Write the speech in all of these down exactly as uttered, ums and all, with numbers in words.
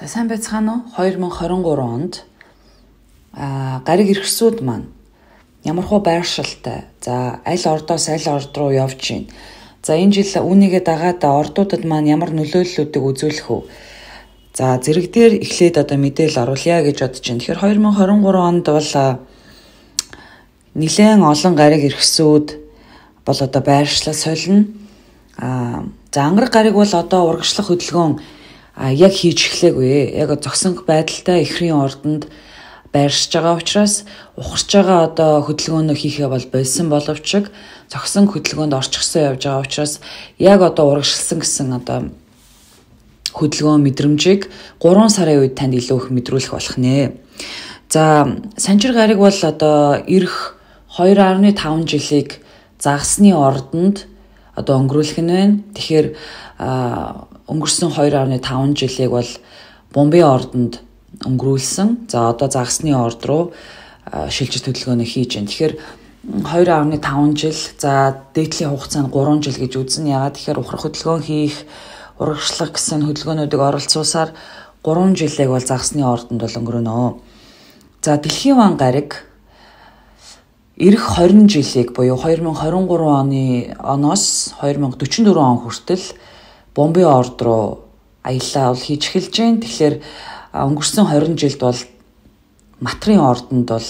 За сайн байцгаана уу? две тысячи двадцать три онд а гариг иргэсүүд маань ямархуу байршилтай. За аль ордоос аль орд руу явж байна. За энэ жил үүнийгээ дагаад ордуудад маань ямар нөлөөллүүдийг үзүүлэх вэ? За зэрэг дээр эхлээд одоо мэдээлэл оруулъя гэж бодож байна. Тэгэхээр две тысячи двадцать три онд бол нэлээд олон гариг иргэсүүд бол одоо байршлал солино. А за ангараг гариг бол одоо урагшлах хөдөлгөөн а яг хийж эхлэегүй. Яг зогсонх байдалтай эхрийн ордонд байршиж байгаа учраас ухарч байгаа одоо хөдөлгөөнөө хийхээ бол болсон боловч зогсон хөдөлгөөнд орчихсон явж байгаа учраас яг одоо урагшилсан гэсэн одоо хөдөлгөөн мэдрэмжийг гурван сарын үед танд илүү их мэдрүүлэх болох нэ. За санчир гариг бол одоо ирэх two point five жилийг загсны ордонд одоо өнгөрүүлэх нь байна. Тэгэхээр өнгөрсөн two point five жилийг бол Бомбей ордонд өнгөрүүлсэн. За одоо загсны орд руу шилжилт хөдөлгөөнөө хийж байна. Тэгэхээр two point five жил, за дээдлийн хугацаанд three жил гэж үзнэ. Ягаад тэгэхээр ухрах хөдөлгөөн хийх, урагшлах гэсэн хөдөлгөөнүүдийг оролцуулсаар three жилийг бол загсны ордонд бол өнгөрөнө. За дэлхийн ван гариг ирэх twenty жилийг буюу two thousand twenty-three оны оноос two thousand forty-four он хүртэл Бомбей орд руу аяллаа бол хийж эхэлж байна. Тэгэхээр өнгөрсөн twenty жилд бол Матрын ордонд бол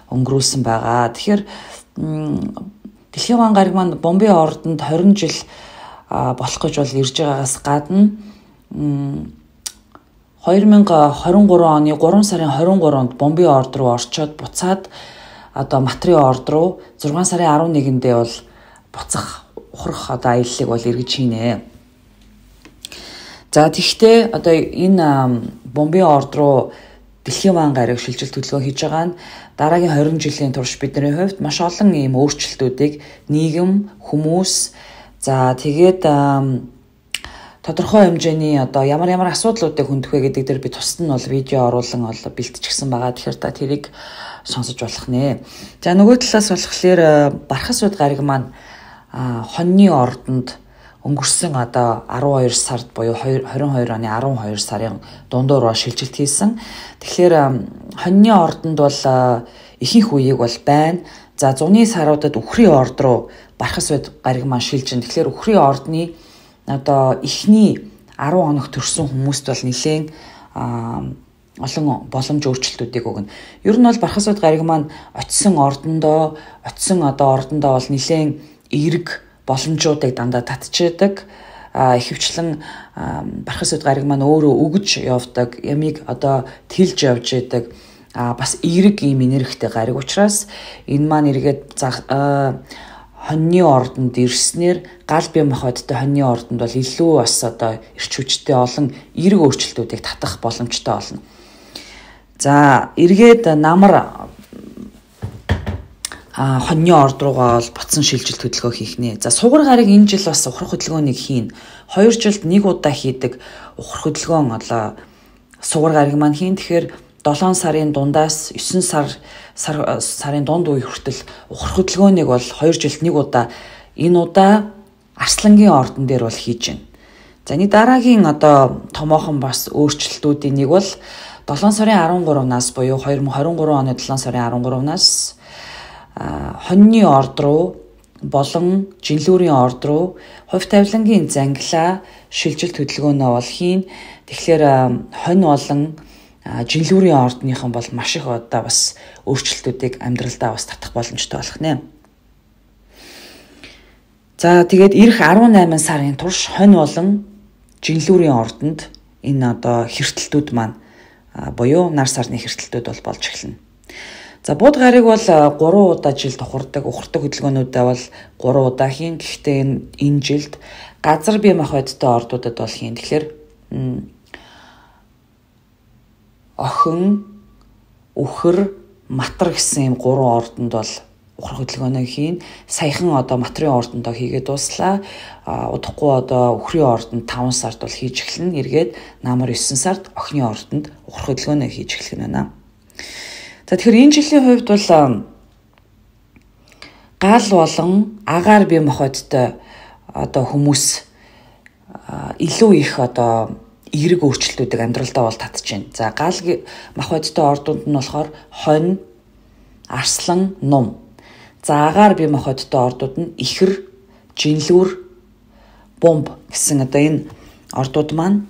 өнгөрүүлсэн байгаа. Тэгэхээр дэлхийн ван гариг маань Бомбей ордонд twenty жил болох гэж бол ирж байгаагаас гадна twenty twenty-three оны three сарын twenty-third-нд Бомбей орд руу орчоод буцаад одоо Матрын орд руу six сарын eleven-ндээ бол буцах ухрах одоо аяллыг бол эргэж хийнэ. За тэгвэл одоо энэ Бомбей орд руу дэлхийн ван гариг шилжилт хөдөлгөөн хийж байгаа нь дараагийн twenty жилийн турш бидний хувьд маш олон ийм өөрчлөлтүүдийг нийгэм, хүмүүс, за тэгээд тодорхой хэмжээний одоо ямар ямар асуудлуудыг хөндөх вэ гэдэг дээр би тусад нь бол видео оруулан ол бэлтжчихсэн байгаа. Тэгэхээр та тэрийг сонсож болох нэ. За нөгөө талаас болохоор Бархасууд гариг маань хоньны ордонд өнгөрсөн одоо twelve сард буюу twenty-two оны twelve сарын дундуур шилжилт хийсэн. Тэгэхээр хоньны ордонд бол ихэнх үеийг бол байна. За зуны саруудад Үхрийн орд руу Бархасууд гариг маань шилжин. Тэгэхээр Үхрийн ордны одоо эхний ten хоног төрсэн хүмүүст бол нэлээд олон боломж өөрчлөлтүүдийг өгнө. Ер нь бол Бархасууд гариг маань очисон ордондоо, очисон одоо ордондоо бол нэлээд эерэг боломжуудыг дандаа татчихдаг. Ихэвчлэн Бархасууд гариг маань өөрөө өгж явдаг, ямиг одоо тэлж явж яадаг. Бас эерэг ийм энергитэй гариг учраас энэ маань эргээд хоньны ордонд ирснээр гал бие махбодтой хоньны ордонд бол илүү бас одоо эрч хүчтэй олон эерэг өөрчлөлтүүдийг татах боломжтой болно. За эргээд намар хоньны орд руугаа бол буцсан шилжилт хөдөлгөөн хийх нэ. За сугар гариг энэ жил бас ухрах хөдөлгөөнийг хийн. two жилд нэг удаа хийдэг ухрах хөдөлгөөн одоо сугар гариг маань хийн. Тэгэхээр seven сарын дундаас nine сар сарын дунд үе хүртэл ухрах хөдөлгөөнийг бол two жилд нэг удаа энэ удаа Арслангийн ордон дээр бол хийж байна. За энэ дараагийн одоо томоохон бас өөрчлөлтүүдийн нэг бол seven сарын thirteen-наас буюу two thousand twenty-three оны seven сарын thirteen-наас хоньны орд руу болон жинлүүрийн орд руу хувь тавилангийн зангилаа шилжилт хөдөлгөөнөө бол хийн. Тэгэхээр хонь болон жинлүүрийн ордныхан бол маш их одоо бас өөрчлөлтүүдийг амьдралдаа бас татах боломжтой болох нэ. За тэгээд ирэх eighteen сарын турш хонь болон жинлүүрийн ордонд энэ одоо хэртэлтүүд маань буюу нар сарны хэртэлтүүд бол болж эхэлнэ. За бууд гариг бол three удаа жилд ухардаг, ухардаг хөдөлгөөнүүдээ бол three удаа хийн. Гэхдээ энэ жилд газар бие махбодтой ордуудад бол хийн. Тэгэхээр охин, үхэр, матар гэсэн ийм гурван ордонд бол ухрах хөдөлгөөнөө хийн. Саяхан одоо Матрын ордондоо хийгээд дуслаа. Удахгүй одоо Үхрийн ордонд five сард бол хийж эхэлнэ. Эргээд намар nine сард охины ордонд ухрах хөдөлгөөнөө хийж эхлэх нь байна. За тэгэхээр энэ жилийн хувьд бол гал болон агаар бие махбодтой одоо хүмүүс илүү их одоо эерэг өөрчлөлтүүдийг амьдралдаа бол татж байна. За гал мах бодтой ордууд нь болохоор хонь, арслан, нум. За агаар бие мах бодтой ордууд нь ихэр, жинлүүр, бомб гэсэн одоо энэ ордууд маань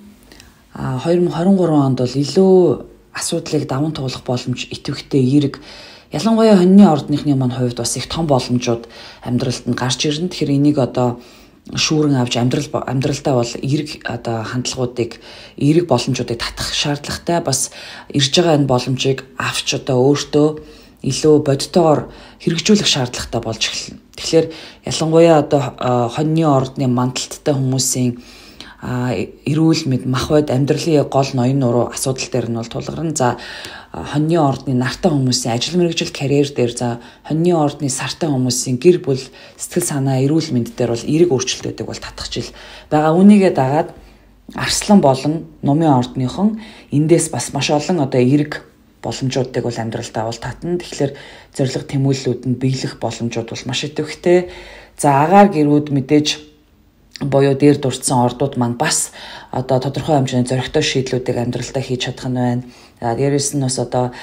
хоёр мың хорин гурван онд бол илүү асуудлыг даван туулах боломж идэвхтэй эерэг, ялангуяа хоньны ордныхны маань хувьд бас их том боломжууд амьдралд нь гарч ирнэ. Тэгэхээр энийг одоо шүүрэн авч амьдрал амьдралдаа бол эерэг одоо хандлагуудыг, эерэг боломжуудыг татах шаардлагатай, бас ирж байгаа энэ боломжийг авч одоо өөртөө илүү бодтойгоор хэрэгжүүлэх шаардлагатай болж эхэлнэ. Тэгэхээр ялангуяа одоо хоньны ордны мандалттай хүмүүсийн эрүүл мэд, мах бод, амьдралын гол ноён нуруу асуудал дээр нь бол тулгарна. За хоньны ордны нартай хүмүүсийн ажил мэргэжил, карьер дээр, за хоньны ордны сартай хүмүүсийн гэр бүл, сэтгэл санаа, эрүүл мэнд дээр бол эерэг өөрчлөлтүүдийг бол татах жил байгаа. Үүнийгээ дагаад арслан болон нумын ордныхон эндээс бас маш олон одоо эерэг боломжуудыг бол амьдралдаа бол татна. Тэгэхээр зориг тэмүүллүүд нь биелэх боломжууд бол маш идэвхтэй. За агаар гэрүүд мэдээж боёо дээр дурдсан ордууд маань бас одоо тодорхой хэмжээний зоригтой шийдлүүдийг амьдралдаа хийж чадах нь байна. Дээрээс нь бас одоо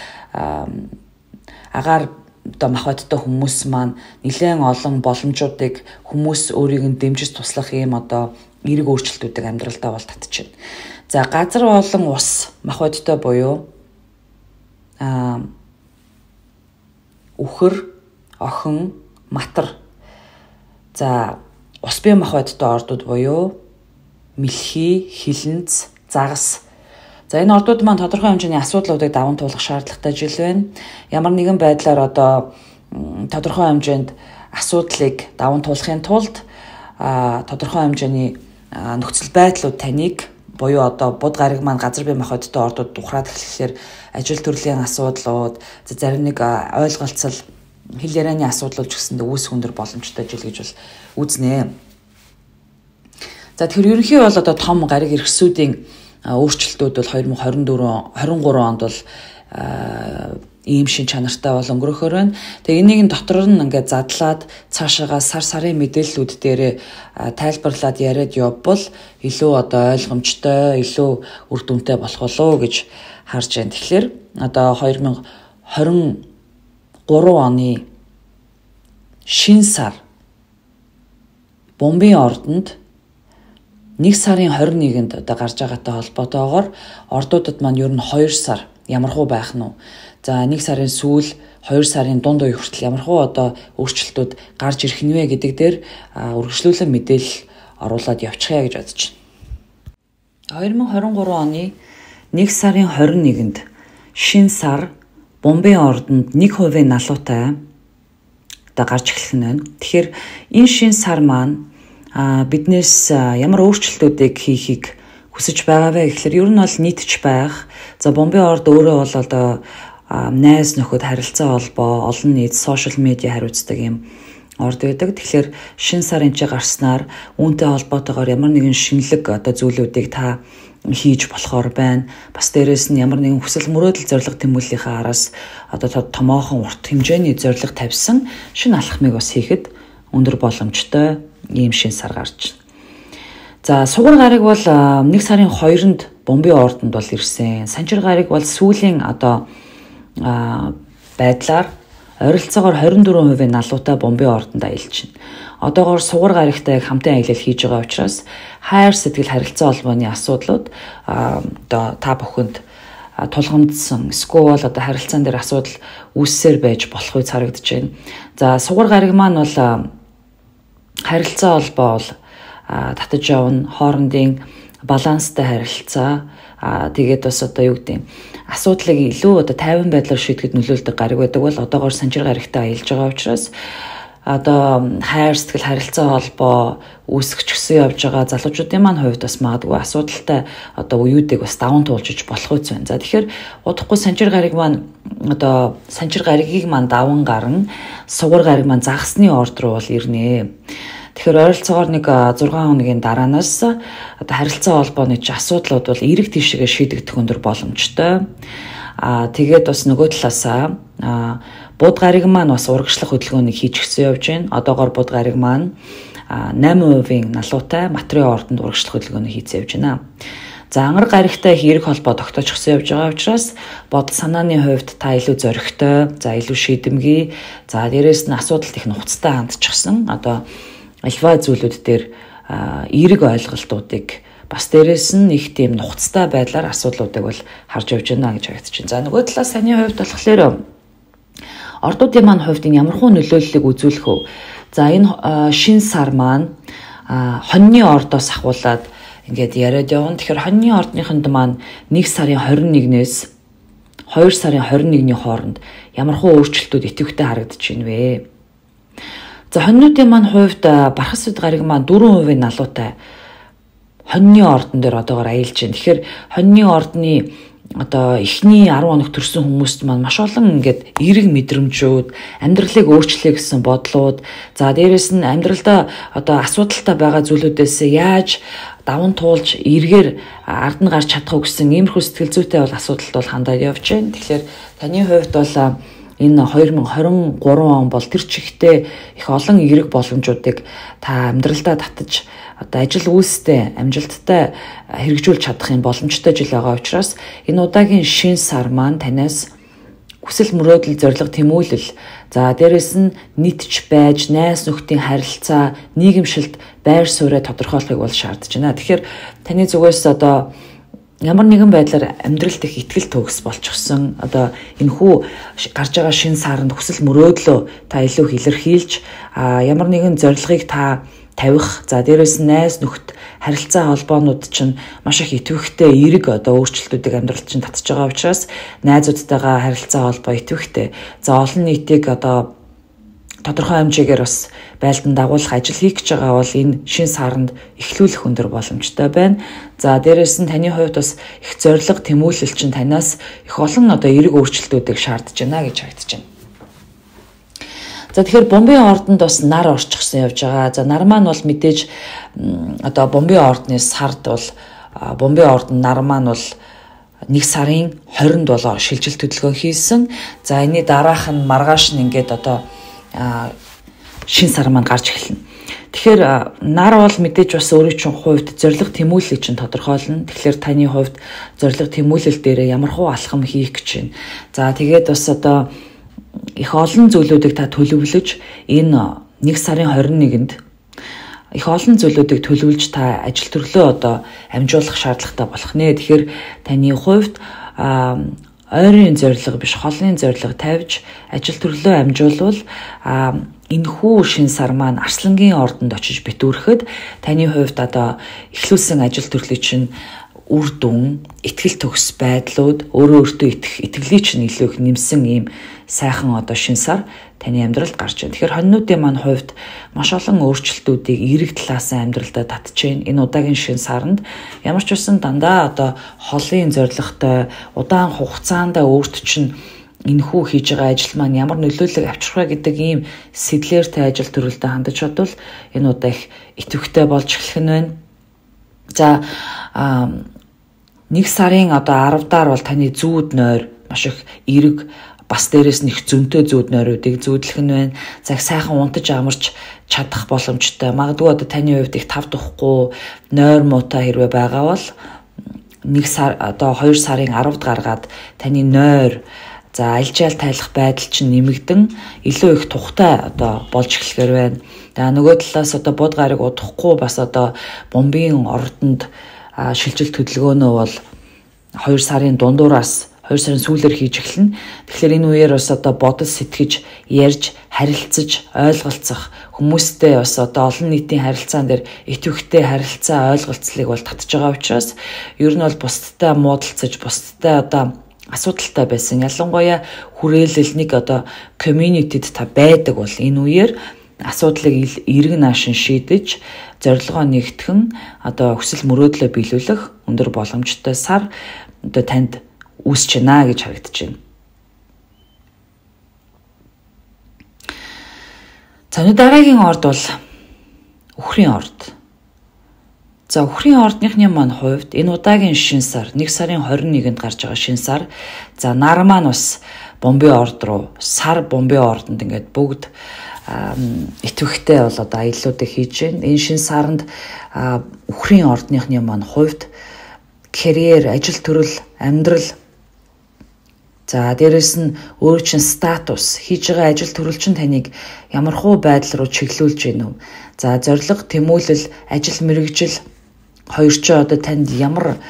агаар одоо мах бодтой хүмүүс маань нэлээд олон боломжуудыг хүмүүс өөрийг нь дэмжиж туслах юм одоо эерэг өөрчлөлтүүдийг амьдралдаа бол татчихна. За газар болон ус мах бодтой буюу а үхэр, охин, матар. За ус бие мах бодтой ордууд буюу мэлхий, хилэнц, загас. За энэ ордууд маань тодорхой хэмжээний асуудлуудыг даван туулах шаардлагатай жил байна. Ямар нэгэн байдлаар одоо тодорхой хэмжээнд асуудлыг даван туулахын тулд тодорхой хэмжээний нөхцөл байдлууд таныг буюу одоо буд гариг маань газар бие мах бодтой ордууд ухраад эхлэхээр ажил төрлийн асуудлууд, зарим нэг ойлголцол, хэл ярианы асуудлууд ч гэсэндээ үүсэх өндөр боломжтой жил гэж бол үзнэ. За тэгэхээр ерөнхий бол одоо том гариг эрхсүүдийн өөрчлөлтүүд бол хоёр мың хорин дөрөв хорин гурван онд бол ийм шин чанартай бол өнгөрөхөр байна. Тэгээ энийг нь дотор нь ингээд задлаад цаашаага сар сарын мэдээллүүд дээр тайлбарлаад яриад явбал илүү одоо ойлгомжтой, илүү үр дүнтэй болох болов гэж харж байна. Тэгэхээр одоо хоёр мың хорин гурван оны шин сар бомбын ордонд нэг сарын хорин нэгэнд одоо гарч байгаатай холбоотойгоор ордуудад маань ер нь хоёр сар ямархуу байх нь. За нэг сарын сүүл хоёр сарын дунд үе хүртэл ямархуу одоо өөрчлөлтүүд гарч ирэх нь вэ гэдэг дээр үргэлжлүүлэн мэдээлэл оруулаад явчихъя гэж бодож байна. хоёр мың хорин гурван оны нэг сарын хорин нэгэнд шин сар бомбын ордонд нэг хувийн налуутай одоо гарч эхлэх нь байна. Тэгэхээр энэ шин сар маань биднээс ямар өөрчлөлтүүдийг хийхийг хүсэж байгаа вэ гэхээр ер нь бол нийтж байх. За бомбын орд өөрөө бол одоо найз нөхөд харилцаа холбоо, олон нийт, сошиал медиа хариуцдаг юм орд байдаг. Тэгэхээр шин сар энэ гарснаар үүнтэй холбоотойгоор ямар нэгэн шинэлэг одоо зүйлүүдийг та хийж болохоор байна. Бас дээрээс нь ямар нэгэн хүсэл мөрөөдөл зориг тэмүүллийнхаа араас одоо томоохон урт хэмжээний зориг тавьсан шинэ алхмыг бас хийхэд өндөр боломжтой ийм шин сар гарч байна. За сугар гариг бол нэг сарын хоёрнд бомбын ордонд бол ирсэн. Санчир гариг бол сүүлийн одоо байдлаар ойролцоогоор хорин дөрвөн хувийн налуутай бомбын ордонд аялж байна. Одоогоор сугар гаригтай хамтын аялал хийж байгаа учраас хайр сэтгэл харилцаа холбооны асуудлууд одоо та бүхэнд тулгамдсан эсвэл одоо харилцаан дээр асуудал үүссээр байж болох үе харагдаж байна. За сугар гариг маань бол харилцаа холбоо бол татаж явна, хоорондын баланстай харилцаа тэгээд бас одоо юу гэдэг асуудлыг илүү одоо тайван байдлаар шийдэхэд нөлөөлдөг гариг байдаг бол одоогоор санчир гаригтай аялж байгаа учраас одоо хайр сэтгэл харилцаа холбоо үүсгэж гисэн явж байгаа залуучуудын маань хувьд бас магадгүй асуудалтай одоо үеүүдийг бас даван туулж болох үс байна. За тэгэхээр удахгүй санчир гариг маань одоо санчир гаригийг маань даван гарна, сугар гариг маань загасны орд руу бол ирнэ. Тэгэхээр ойролцоогоор нэг зургаан хоногийн дараанаас одоо харилцаа холбооны ч асуудлууд бол эрэг тийшээгээ шийдэгдэх өндөр боломжтой. Аа тэгээд бас нөгөө талаасаа буд гариг маань бас урагшлах хөдөлгөөнийг хийж гисэн явж байна. Одоогоор буд гариг маань найман хувийн налуутай материал ордонд урагшлах хөдөлгөөнийг хийж явж байна. За ангар гаригтай их эерэг холбоо тогтоочихсан явж байгаа учраас бодол санааны хувьд та илүү зоригтой, за илүү шийдэмгий, за дээрэс нь асуудалт их нухацтай хандчихсан. Одоо альва зүйлүүд дээр эерэг ойлголтуудыг бас дээрэс нь их тийм нухацтай байдлаар асуудлуудыг бол харж явж байна гэж харагдаж байна. За нөгөө талаас таны хувьд болохоор ордуудын маань хувьд ямархуу нөлөөллийг үзүүлэх вэ? За энэ шин сар маань хоньны ордоос ахуулаад ингээд яриад явна. Тэгэхээр хоньны ордныхонд маань нэг сарын хорин нэгнээс хоёр сарын хорин нэгний хооронд ямархуу өөрчлөлтүүд идэвхтэй харагдаж байна вэ? За хоньнуудын маань хувьд бархас үд гариг маань дөрвөн хувийн налуутай хоньны ордон дээр одоогоор аялж байна. Тэгэхээр хоньны ордны одоо эхний арван хоног төрсэн хүмүүст маань маш олон ингээд эерэг мэдрэмжүүд, амьдралыг өөрчлөе гэсэн бодлууд, за дээрэс нь амьдралдаа одоо асуудалтай байгаа зүйлүүдээс яаж даван туулж эргээр ард нь гарч чадах уу гэсэн иймэрхүү сэтгэл зүйтэй бол асуудалд бол хандаад явж байна. Тэгэхээр таны хувьд бол энэ хоёр мянга хорин гурван он бол тэр чигтээ их олон эерэг боломжуудыг та амьдралдаа татаж одоо ажил үйлстэй амжилттай хэрэгжүүлж чадах юм боломжтой жил байгаа учраас энэ удаагийн шин сар маань танаас хүсэл мөрөөдөл, зорилго, тэмүүлэл, за дээрэс нь нийтж байж найз нөхдийн харилцаа, нийгэмшилд байр сууриа тодорхойлохыг бол шаардж байна. Тэгэхээр таны зүгээс одоо ямар нэгэн байдлаар амьдралд их ихтгэл төгс болчихсон. Одоо энэхүү гарч байгаа шин саранд хүсэл мөрөөдлөө та илүү илэрхийлж, ямар нэгэн зорилгыг та тавих, за дээрэс найз нөхд харилцаа холбоонууд чинь маш их идэвхтэй эерэг одоо өөрчлөлтүүдийг амьдралд чинь татж байгаа учраас найзуудтайгаа харилцаа холбоо идэвхтэй. За олон нийтийг одоо тодорхой хэмжээгээр бас байлдан дагуулах ажил хийх гэж байгаа бол энэ шин саранд эхлүүлэх өндөр боломжтой байна. За дээрэс нь таны хувьд бас их зориг тэмүүлэл чинь танаас их олон одоо эерэг өөрчлөлтүүдийг шаардж байна гэж харагдаж байна. За тэгэхээр бомбын ордонд бас нар орчихсон явж байгаа. За нар маань бол мэдээж одоо бомбын ордны сард бол бомбын ордон нар маань бол нэг сарын хорионд болоо шилжилт хөдөлгөөн хийсэн. За энэний дараах нь маргааш нь ингээд одоо шин сар маань гарч эхэлнэ. Тэгэхээр нар бол мэдээж бас өөрийн чинь хувьд зориг тэмүүлэлийг чинь тодорхойлно. Тэгэхээр таны хувьд зориг тэмүүлэл дээр ямар хуу алхам хийх гэж байна. За тэгээд бас одоо их олон зүйлүүдийг та төлөвлөж энэ нэг сарын хорин нэгэнд их олон зүйлүүдийг төлөвлөж та ажил төрлөө одоо амжуулах шаардлагатай болох нэ. Тэгэхээр таны хувьд ойрын зорилго биш холны зорилго тавьж ажил төрлөө амжуулвал энэхүү шин сар маань Арслангийн ордонд очиж битүүрэхэд таны хувьд одоо эхлүүлсэн ажил төрлийг чинь үр дүн, итгэл төгс байдлууд, өөрөө өөртөө итгэх итгэлийг чинь илүү их нэмсэн ийм сайхан одоо шин сар таны амьдралд гарч байна. Тэгэхээр хоньнуудын маань хувьд маш олон өөрчлөлтүүдийг эерэг талаас нь амьдралдаа татж байна. Энэ удаагийн шин саранд ямар ч үсэн дандаа одоо холын зорилготой удаан хугацаанд өөрт чинь энэхүү хийж байгаа ажил маань ямар нөлөөлөл авчрах вэ гэдэг ийм сэтлээртэй ажил төрөлдөө хандаж бодвол энэ удаа их идэвхтэй болж эхлэх нь байна. За нэг сарын одоо аравдаар бол таны зүүд нойр маш их эерэг бас дээрээс нь их зөнтэй зүүд нойруудыг зүүдлэх нь байна. За их сайхан унтаж амарч чадах боломжтой. Магадгүй одоо таны хувьд их тав тухгүй нойр муутай хэрвээ байгаа бол нэг сар одоо хоёр сарын аравд гаргаад таны нойр за альжаал тайлах байдал чинь нэмэгдэн илүү их тухтай одоо болж эхлэхээр байна. За нөгөө талаас одоо бод гариг удахгүй бас одоо бомбын ордонд шилжилт хөдөлгөөнөө бол хоёр сарын дундуураас хоёр сарын сүүлээр хийж эхэлнэ. Тэгэхээр энэ үеэр бас одоо бодол сэтгэж, ярьж, харилцаж, ойлголцох хүмүүстэй бас одоо олон нийтийн харилцаан дээр идэвхтэй харилцаа ойлголцлыг бол татж байгаа учраас ер нь бол бусдтай муудалцаж, бусдтай одоо асуудалтай байсан. Ялангуяа хүрээлэл нэг одоо community-д та байдаг бол энэ үеэр асуудлыг эрг наашин шийдэж, зорилгоо нэгтгэн одоо хүсэл мөрөөдлөө биелүүлэх өндөр боломжтой сар одоо танд үүсэж байна гэж харагдаж байна. За дараагийн орд бол үхрийн орд. За үхрийн ордныхны маань хувьд энэ удаагийн шин сар нэг сарын хорин нэгэнд гарч байгаа шин сар. За нар маань бас бомбын орд руу сар бомбын ордонд ингээд бүгд идэвхтэй бол одоо аяллуудыг хийж байна. Энэ шин саранд үхрийн ордныхны маань хувьд карьер, ажил төрөл, амьдрал. За дээрэс нь өөр чин статус, хийж байгаа ажил төрөл чинь таныг ямархуу байдал руу чиглүүлж гинв. За зориг, тэмүүлэл, ажил мэргэжил хоёр ч одоо танд ямар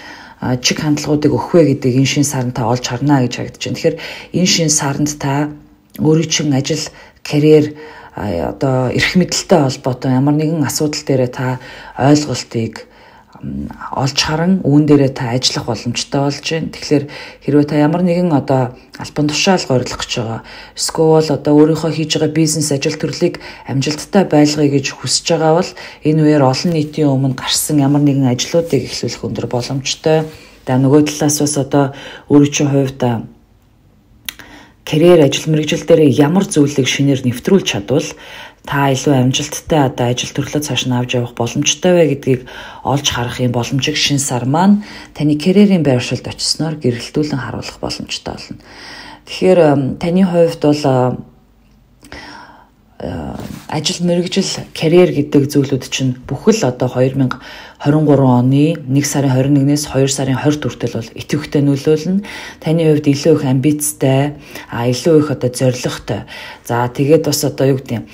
чиг хандлагуудыг өгөх вэ гэдэг энэ шин саранд та олж харна гэж харагдаж байна. Тэгэхээр энэ шин саранд та өөрийн чин ажил, карьер, одоо эрх мэдэлтэй холбоотой ямар нэгэн асуудал дээр та ойлголтыг олж харан үүн дээрээ та ажиллах боломжтой болж байна. Тэгэхээр хэрвээ та ямар нэгэн одоо албан тушаалга орлох гэж байгаа, эсвэл одоо өөрийнхөө хийж байгаа бизнес ажил төрлийг амжилттай байлгая гэж хүсэж байгаа бол энэ үеэр олон нийтийн өмнө гарсан ямар нэгэн ажлуудыг эхлүүлэх өндөр боломжтой. За нөгөө талаас бас одоо өөрийн чинь хувьд карьер, ажил мэргэжил дээр ямар зүйлийг шинээр нэвтрүүлж чадвал та илүү амжилттай одоо ажил төрлөө цааш нь авч явах боломжтой вэ гэдгийг олж харах юм боломжийг шинэ сар маань таны карьерийн байршилд очисноор гэрэлтүүлэн харуулах боломжтой болно. Тэгэхээр таны хувьд бол ажил мэргэжил, карьер гэдэг зүйлүүд чинь бүхэл одоо two thousand twenty-three оны нэг сарын twenty-one нэгнээс two сарын twenty хүртэл бол идэвхтэй нөлөөлнө. Таны хувьд илүү их амбицтай, а илүү их одоо зоригтой. За тэгээд бас одоо юу гэдэг юм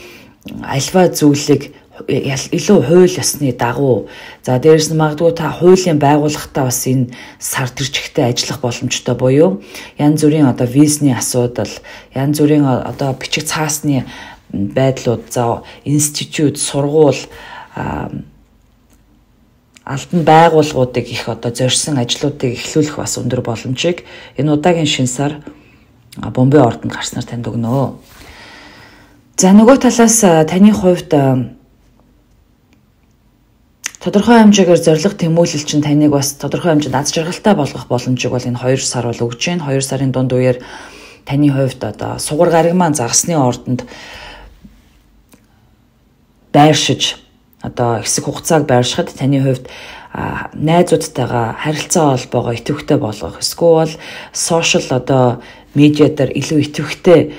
альва зүйлийг илүү хууль ёсны дагуу. За дээрэс нь магадгүй та хуулийн байгууллагатай бас энэ сар төрчихтэй ажиллах боломжтой буюу янз бүрийн одоо визний асуудал, янз бүрийн одоо бичиг цаасны байдлууд, за институт, сургууль, албан байгууллагуудыг их одоо зорьсон ажлуудыг эхлүүлэх бас өндөр боломжийг энэ удаагийн шин сар Бомбей ордонд гарснаар танд өгнө. За нөгөө талаас таны хувьд тодорхой хэмжээгээр зориг тэмүүлэл чинь таныг бас тодорхой хэмжээнд аз жаргалтай болгох боломжийг бол энэ two сар бол өгж байна. two сарын дунд үеэр таны хувьд одоо сугар гариг маань загасны ордонд байршиж одоо хэсэг хугацааг байршихад таны хувьд найзуудтайгаа харилцаа холбоогоо идэвхтэй болгох, эсвэл сошиал одоо медиа дээр илүү идэвхтэй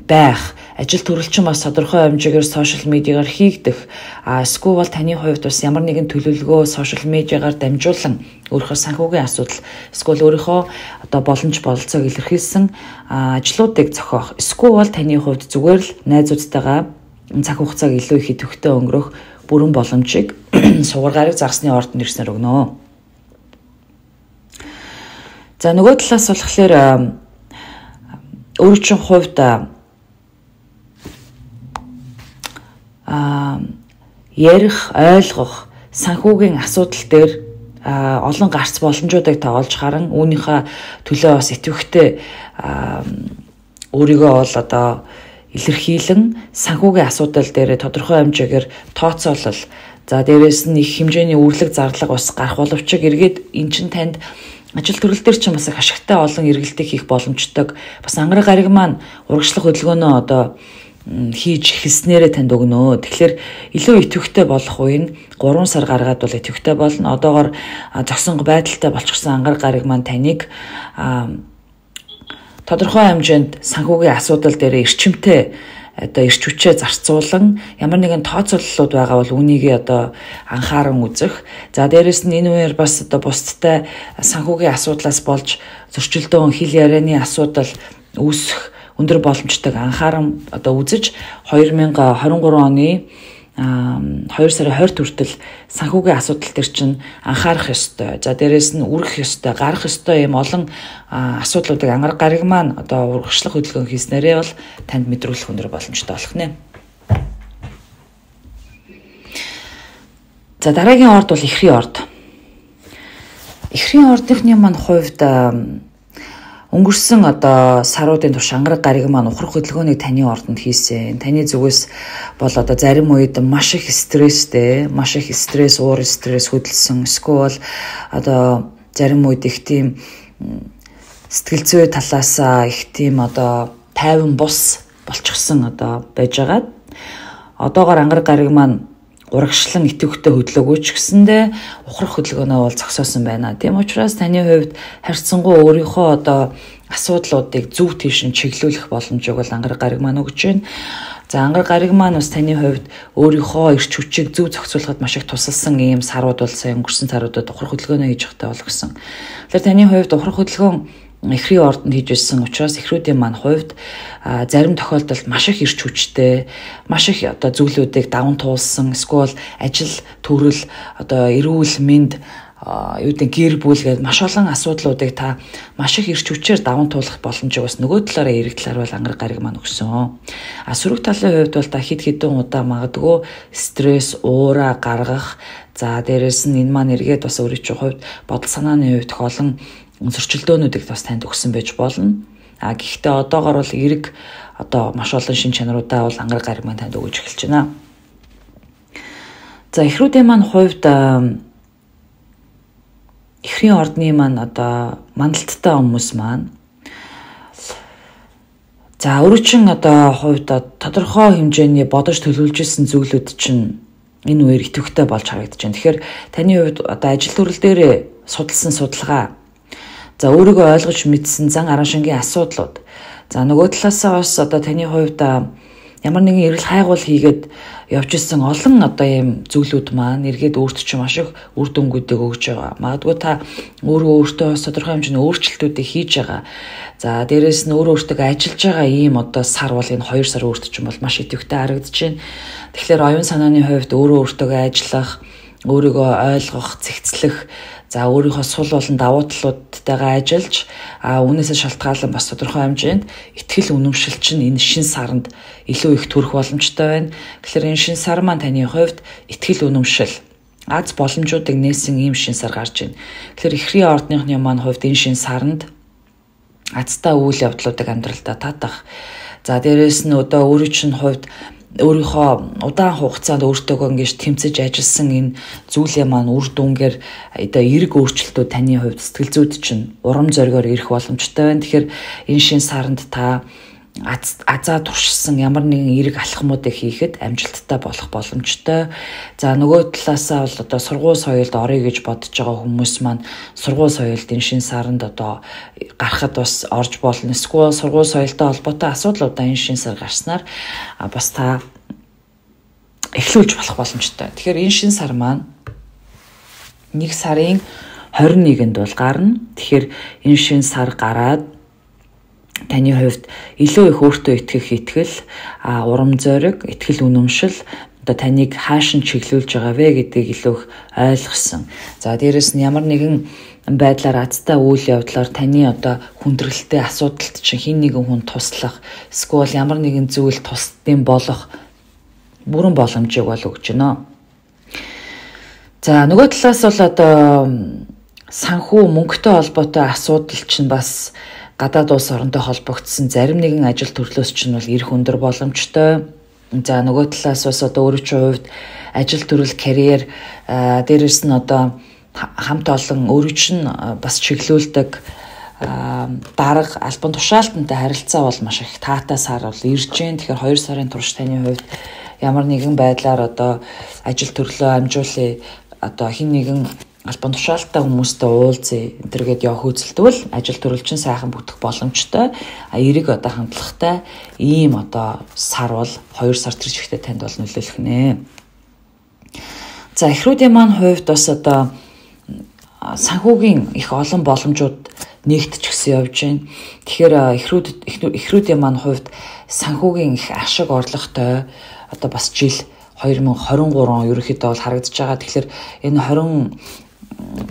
байх, ажил төрөлчин бас тодорхой хэмжээгээр сошиал медиагаар хийгдэх, эсвэл таны хувьд бас ямар нэгэн төлөвлөгөө сошиал медиагаар дамжуулан өөрийнхөө санхүүгийн асуудал, эсвэл өөрийнхөө одоо боломж бололцоог илэрхийлсэн ажлуудыг зохиох, эсвэл таны хувьд зүгээр л найзуудтайгаа цаг хугацааг илүү их идэвхтэй өнгөрөх бүрэн боломжийг сугар гариг загасны ордонд ирснээр өгнө. За нөгөө талаас болохоор өөрийн чинь хувьд а ярих, ойлгох, санхүүгийн асуудал дээр олон гарц боломжуудыг та олж харан үүнийхээ төлөө бас идэвхтэй өөрийгөө бол одоо илэрхийлэн санхүүгийн асуудал дээр тодорхой хэмжээгээр тооцоолол, за дээрээс нь их хэмжээний үрлэг зарлага бас гарах боловч эргээд эн чинь танд ажил төрөл дээр ч бас их ашигтай олон эргэлтийг хийх боломжтой. Бас ангараг гариг маань урагшлах хөдөлгөөнөө одоо хийж эхэлснээрээ танд өгнө. Тэгэхээр илүү идэвхтэй болох үеийн three сар гаргаад бол идэвхтэй болно. Одоогоор зогсонго байдалтай болчихсон ангараг гариг маань таныг тодорхой хэмжээнд санхүүгийн асуудал дээр эрчимтэй одоо эрч хүчээ зарцуулан ямар нэгэн тооцооллууд байгаа бол үүнийг одоо анхааран үзэх. За дээрэс нь энэ үеэр бас одоо бусдтай санхүүгийн асуудлаас болж зөрчилдөөн хил ярианы асуудал үүсэх өндөр боломжтойг анхааран одоо үзэж twenty twenty-three оны two сарын twenty хүртэл санхүүгийн асуудал төр чинь анхаарах ёстой. За дээрээс нь үргэх ёстой, гарах ёстой юм олон асуудлуудыг ангараг гариг маань одоо урагшлах хөдөлгөөн хийснээрээ бол танд мэдрүүлэх өндөр боломжтой болох нэ. За дараагийн орд бол эхрийн орд. Эхрийн ордынхны маань хувьд өнгөрсөн одоо саруудын турш ангараг гариг маань ухрах хөдөлгөөнийг таны ордонд хийсэн. Таны зүгээс бол одоо зарим үед маш их стресстэй, маш их стресс, уур стресс хөдөлсөн. Эсвэл одоо зарим үед их тийм сэтгэл зүй талаас их тийм одоо тайван бус болчихсон одоо байж байгаа. Одоогоор ангараг гариг маань урагшлан идэвхтэй хөдлөөгүй ч гэсэндээ ухрах хөдөлгөөнөө бол зогсоосон байна. Тийм учраас таны хувьд харьцангуй өөрийнхөө одоо асуудлуудыг зөв тийш нь чиглүүлэх боломжийг бол ангараг гариг маань өгч байна. За ангар гариг маань бас таны хувьд өөрийнхөө эрч хүчийг зөв зохицуулахад маш их тусалсан ийм сарууд бол сая өнгөрсөн саруудад ухрах хөдөлгөөнөө хийж явахдаа болгосон. Тэгэхээр таны хувьд ухрах хөдөлгөөн эхрийн ордонд хийж ирсэн учраас эхрүүдийн маань хувьд зарим тохиолдолд маш их эрч хүчтэй, маш их одоо зүйлүүдийг даван туулсан, эсвэл ажил төрөл, одоо эрүүл мэнд, юу гэдэг гэр бүл гэдэг маш олон асуудлуудыг та маш их эрч хүчээр даван туулах боломжийг бас нөгөө талаараа эрэг талаар бол ангар гариг маань өгсөн. А сөрөг талын хувьд бол та хэд хэдэн удаа магадгүй стресс, уура гаргах, за дээрэс нь энэ маань эргээд бас өөрийн чинь хувьд бодол санааны хувьд их олон зөрчилдөөнүүдийг бас танд өгсөн байж болно. А гэхдээ одоогор бол эрэг одоо маш олон шин чанаруудаа бол ангар гариг маань танд өгөж эхэлж байна. За эхрүүдийн маань хувьд эхрийн ордны маань одоо мандалттай хүмүүс маань за өөрөчин одоо хувьд тодорхой хэмжээний бодож төлөвлөж исэн зүйлүүд чинь энэ үеэр идэвхтэй болж харагдаж байна. Тэгэхээр таны хувьд одоо ажил төрөл дээр судалсан судалгаа, за өөрийгөө ойлгож мэдсэн зан аран шингийн асуудлууд, за нөгөө талаасаа бас одоо таны хувьд ямар нэгэн эргэл хайгуул хийгээд явж исэн олон одоо ийм зүйлүүд маань эргээд өөрт чинь маш их үр дүнгуудыг өгж байгаа. Магадгүй та өөрөө өөртөө тодорхой хэмжээний өөрчлөлтүүдийг хийж байгаа. За дээрэс нь өөрөө өөртөө ажиллаж байгаа ийм одоо сар бол энэ хоёр сар өөрт чинь бол маш идэвхтэй харагдаж байна. Тэгэхээр оюун санааны хувьд өөрөө өөртөө ажиллах, өөрийгөө ойлгох, цэгцлэх, за өөрийнхөө сул болон давуу талуудтайгаа ажиллаж а үүнээсээ шалтгаалan бас тодорхой хэмжээнд ихтгэл үнэмшил чинь энэ шин саранд илүү их төрөх боломжтой байна. Тэгэхээр энэ шин сар маань таны хувьд ихтгэл үнэмшил, аз боломжуудыг нээсэн ийм шин сар гарч байна. Тэгэхээр эхрийн ордныхны маань хувьд энэ шин саранд азтай үйл явдлуудыг амьдралдаа татах. За дээрэс нь одоо өөрийн чинь хувьд өөрийнхөө удаан хугацаанд өөртөөгөө ингэж тэмцэж ажилласан энэ зүйлээ маань үр дүнгээр одоо эрг өөрчлөлтүүд таны хувьд сэтгэл зүйд чинь урам зоригоор ирэх боломжтой байна. Тэгэхээр энэ шин саранд та азаа туршсан ямар нэгэн эрг алхмуудыг хийхэд амжилттай болох боломжтой. За нөгөө талаасаа бол одоо сургууль соёлд орё гэж бодож байгаа хүмүүс маань сургууль соёлд энэ шин саранд одоо гарахад бас орж болно. Эсвэл сургууль соёлтой холбоотой асуудлуудаа энэ шин сар гарснаар бас та эхлүүлж болох боломжтой. Тэгэхээр энэ шин сар маань нэг сарын хорин нэгэнд бол гарна. Тэгэхээр энэ шин сар гараад таны хувьд илүү их өөртөө итгэх итгэл, а урам зориг, итгэл үнэмшил одоо таныг хаашин чиглүүлж байгаа вэ гэдгийг илүү их ойлгосон. За дээрэс нь ямар нэгэн байдлаар азтай үйл явдлаар таны одоо хүндрэлтэй асуудалд чинь хин нэгэн хүн туслах, эсвэл ямар нэгэн зүйл тусдсан болох бүрэн боломжийг бол өгч байна. За нөгөө талаас бол одоо санхүү мөнгөтэй холбоотой асуудал чинь бас гадаад улс оронтой холбогдсон зарим нэгэн ажил төрлөөс чинь бол эрх өндөр боломжтой. За нөгөө талаас бас одоо өөрийн чинь хувьд ажил төрөл, карьер, дээрээс нь одоо хамт олон өөрийн чинь бас чиглүүлдэг дарга, албан тушаалтантай харилцаа бол маш их таатай сар бол ирж байна. Тэгэхээр хоёр сарын турш таны хувьд ямар нэгэн байдлаар одоо ажил төрлөө амжуулъя, одоо хин нэгэн албан тушаалттай хүмүүстэй уулзъя энтергээд явах үзэлдвэл ажил төрөл чинь сайхан бүтэх боломжтой. А эрэг одоо хандлагатай ийм одоо сар бол хоёр сар тэр чигтээ танд бол нөлөөлөх нэ. За эхрүүдийн маань хувьд бас одоо санхүүгийн их олон боломжууд нэгтчихсэн явж байна. Тэгэхээр эхрүүд эхрүүдийн маань хувьд санхүүгийн их ашиг орлоготой одоо бас жил хоёр мың хорин гурав ерөнхийдөө бол харагдаж байгаа. Тэгэхээр энэ хорин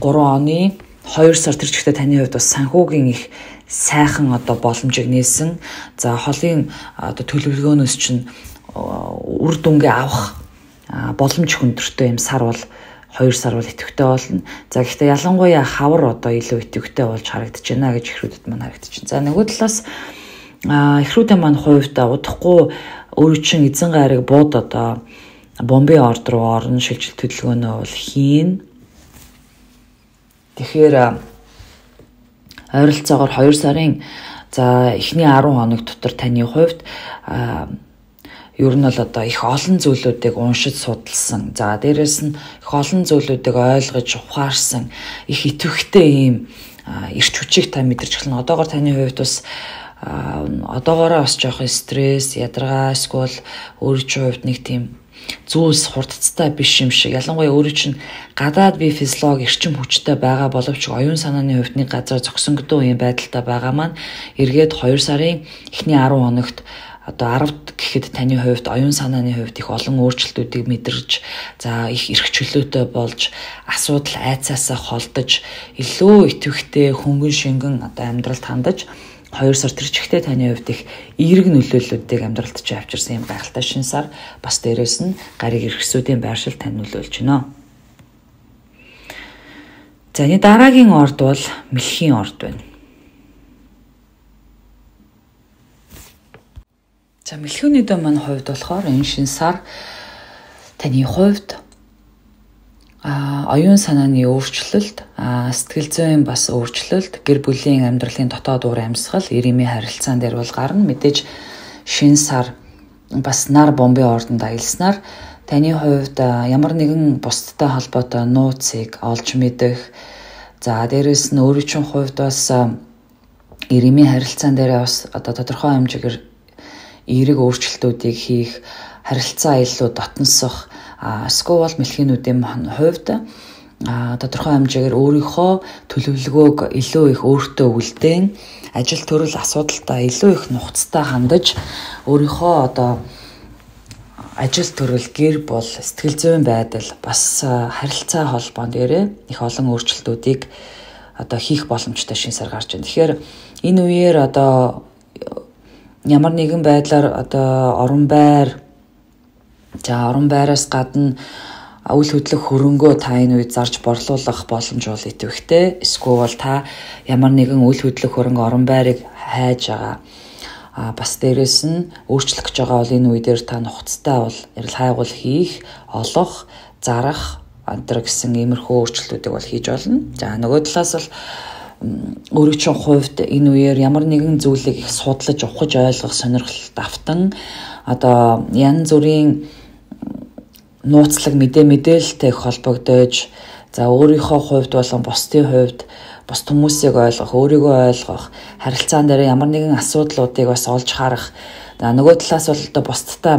гурван оны хоёр сар тэр чигтээ таны хувьд бас санхүүгийн их сайхан одоо боломжийг нээсэн. За холын одоо төлөвлөгөөнөөс чинь үр дүнгээ авах боломж хүндэртэй юм сар бол хоёр сар бол идэвхтэй болно. За гэхдээ ялангуяа хавар одоо илүү идэвхтэй болж харагдаж байна гэж эхрүүдэд маань харагдаж байна. За нөгөө талаас эхрүүдийн маань хувьд удахгүй өөрийн чинь эзэн гариг бууд одоо бомбын орд руу орно, шилжилт хөдөлгөөнөө бол хийн. Тэгэхээр ойролцоогоор хоёр сарын за эхний арван хоног дотор таны хувьд ер нь бол одоо их олон зүйлүүдийг уншиж судалсан. За дээрэс нь их олон зүйлүүдийг ойлгож ухаарсан их идэвхтэй ийм эрч хүчийг та мэдэрч эхэлнэ. Одоогоор таны хувьд бас одоогоороо бас жоох стресс, ядаргаа, эсвэл өөрийн хувьд нэг тийм зүйлс хурдцтай биш юм шиг. Ялангуяа өөрөө чинь гадаад бие физиологи эрчим хүчтэй байгаа боловч оюун санааны хувьд нэг газар зогсонгодоо юм байдалтай байгаа маань эргээд хоёр сарын эхний арав хоногт одоо аравд гэхэд таны хувьд оюун санааны хувьд их олон өөрчлөлтүүдийг мэдэрч за их эрх чөлөөтэй болж асуудал айцаасаа холдож илүү итэвхтэй хөнгөн шингэн одоо амьдралд хандаж хоёр сар тэр чигтээ таны хувьд их эерэг нөлөөллүүдийг амьдралд чи авчирсан юм гайхалтай шинэ сар бас дээрэс нь гариг эрхсүүдийн байршил тань нөлөөлж байна. За энэ дараагийн орд бол мэлхийн орд байна. За мэлхүүний дөө маань хувьд болохоор энэ шинэ сар таны хувьд а оюун санааны өөрчлөлт, сэтгэл зүйн бас өөрчлөлт, гэр бүлийн амьдралын дотоод уур амьсгал, ирэмийн харилцаан дээр бол гарна. Мэдээж шинэ сар бас нар бомбын ордонд аялснаар таны хувьд ямар нэгэн бусдтай холбоотой нууцыг олж мэдэх, за дээрэс нь өөрийн чинь хувьд бас ирэмийн харилцаан дээр бас одоо тодорхой хэмжээгээр эерэг өөрчлөлтүүдийг хийх, харилцаа илүү дотносох, эсвэл мэлхийнүүдийн хувьд тодорхой хэмжээгээр өөрийнхөө төлөвлөгөөг илүү их өөртөө үлдээн ажил төрөл асуудалтай илүү их нухацтай хандаж өөрийнхөө одоо ажил төрөл гэр бол сэтгэл зүйн байдал бас харилцаа холбоон дээрээ их олон өөрчлөлтүүдийг одоо хийх боломжтой шинэ сар гарч байна. Тэгэхээр энэ үеэр одоо ямар нэгэн байдлаар одоо орон байр за орон байраас гадна үйл хөдлөх хөрөнгөө та энэ үед зарж борлуулах боломж бол идэвхтэй. Эсвэл та ямар нэгэн үйл хөдлөх хөрөнгө орон байрыг хайж байгаа. А бас дээрэс нь өөрчлөх гэж байгаа бол энэ үедэр та нухацтай бол ярил хайгуул хийх, олох, зарах антер гэсэн иймэрхүү өөрчлөлтүүдийг бол хийж болно. За нөгөө талаас бол өөрийн чинь хувьд энэ үеэр ямар нэгэн зүйлийг их судлаж, ухаж ойлгох сонирхолтой автан одоо янз бүрийн нууцлаг мэдээ мэдээлэлтэй холбогдож за өөрийнхөө хувьд болон бусдын хувьд бус хүмүүсийг ойлгох, өөрийгөө ойлгох, харилцаан дээр ямар нэгэн асуудлуудыг бас олж харах. За нөгөө талаас бол одоо бусдтай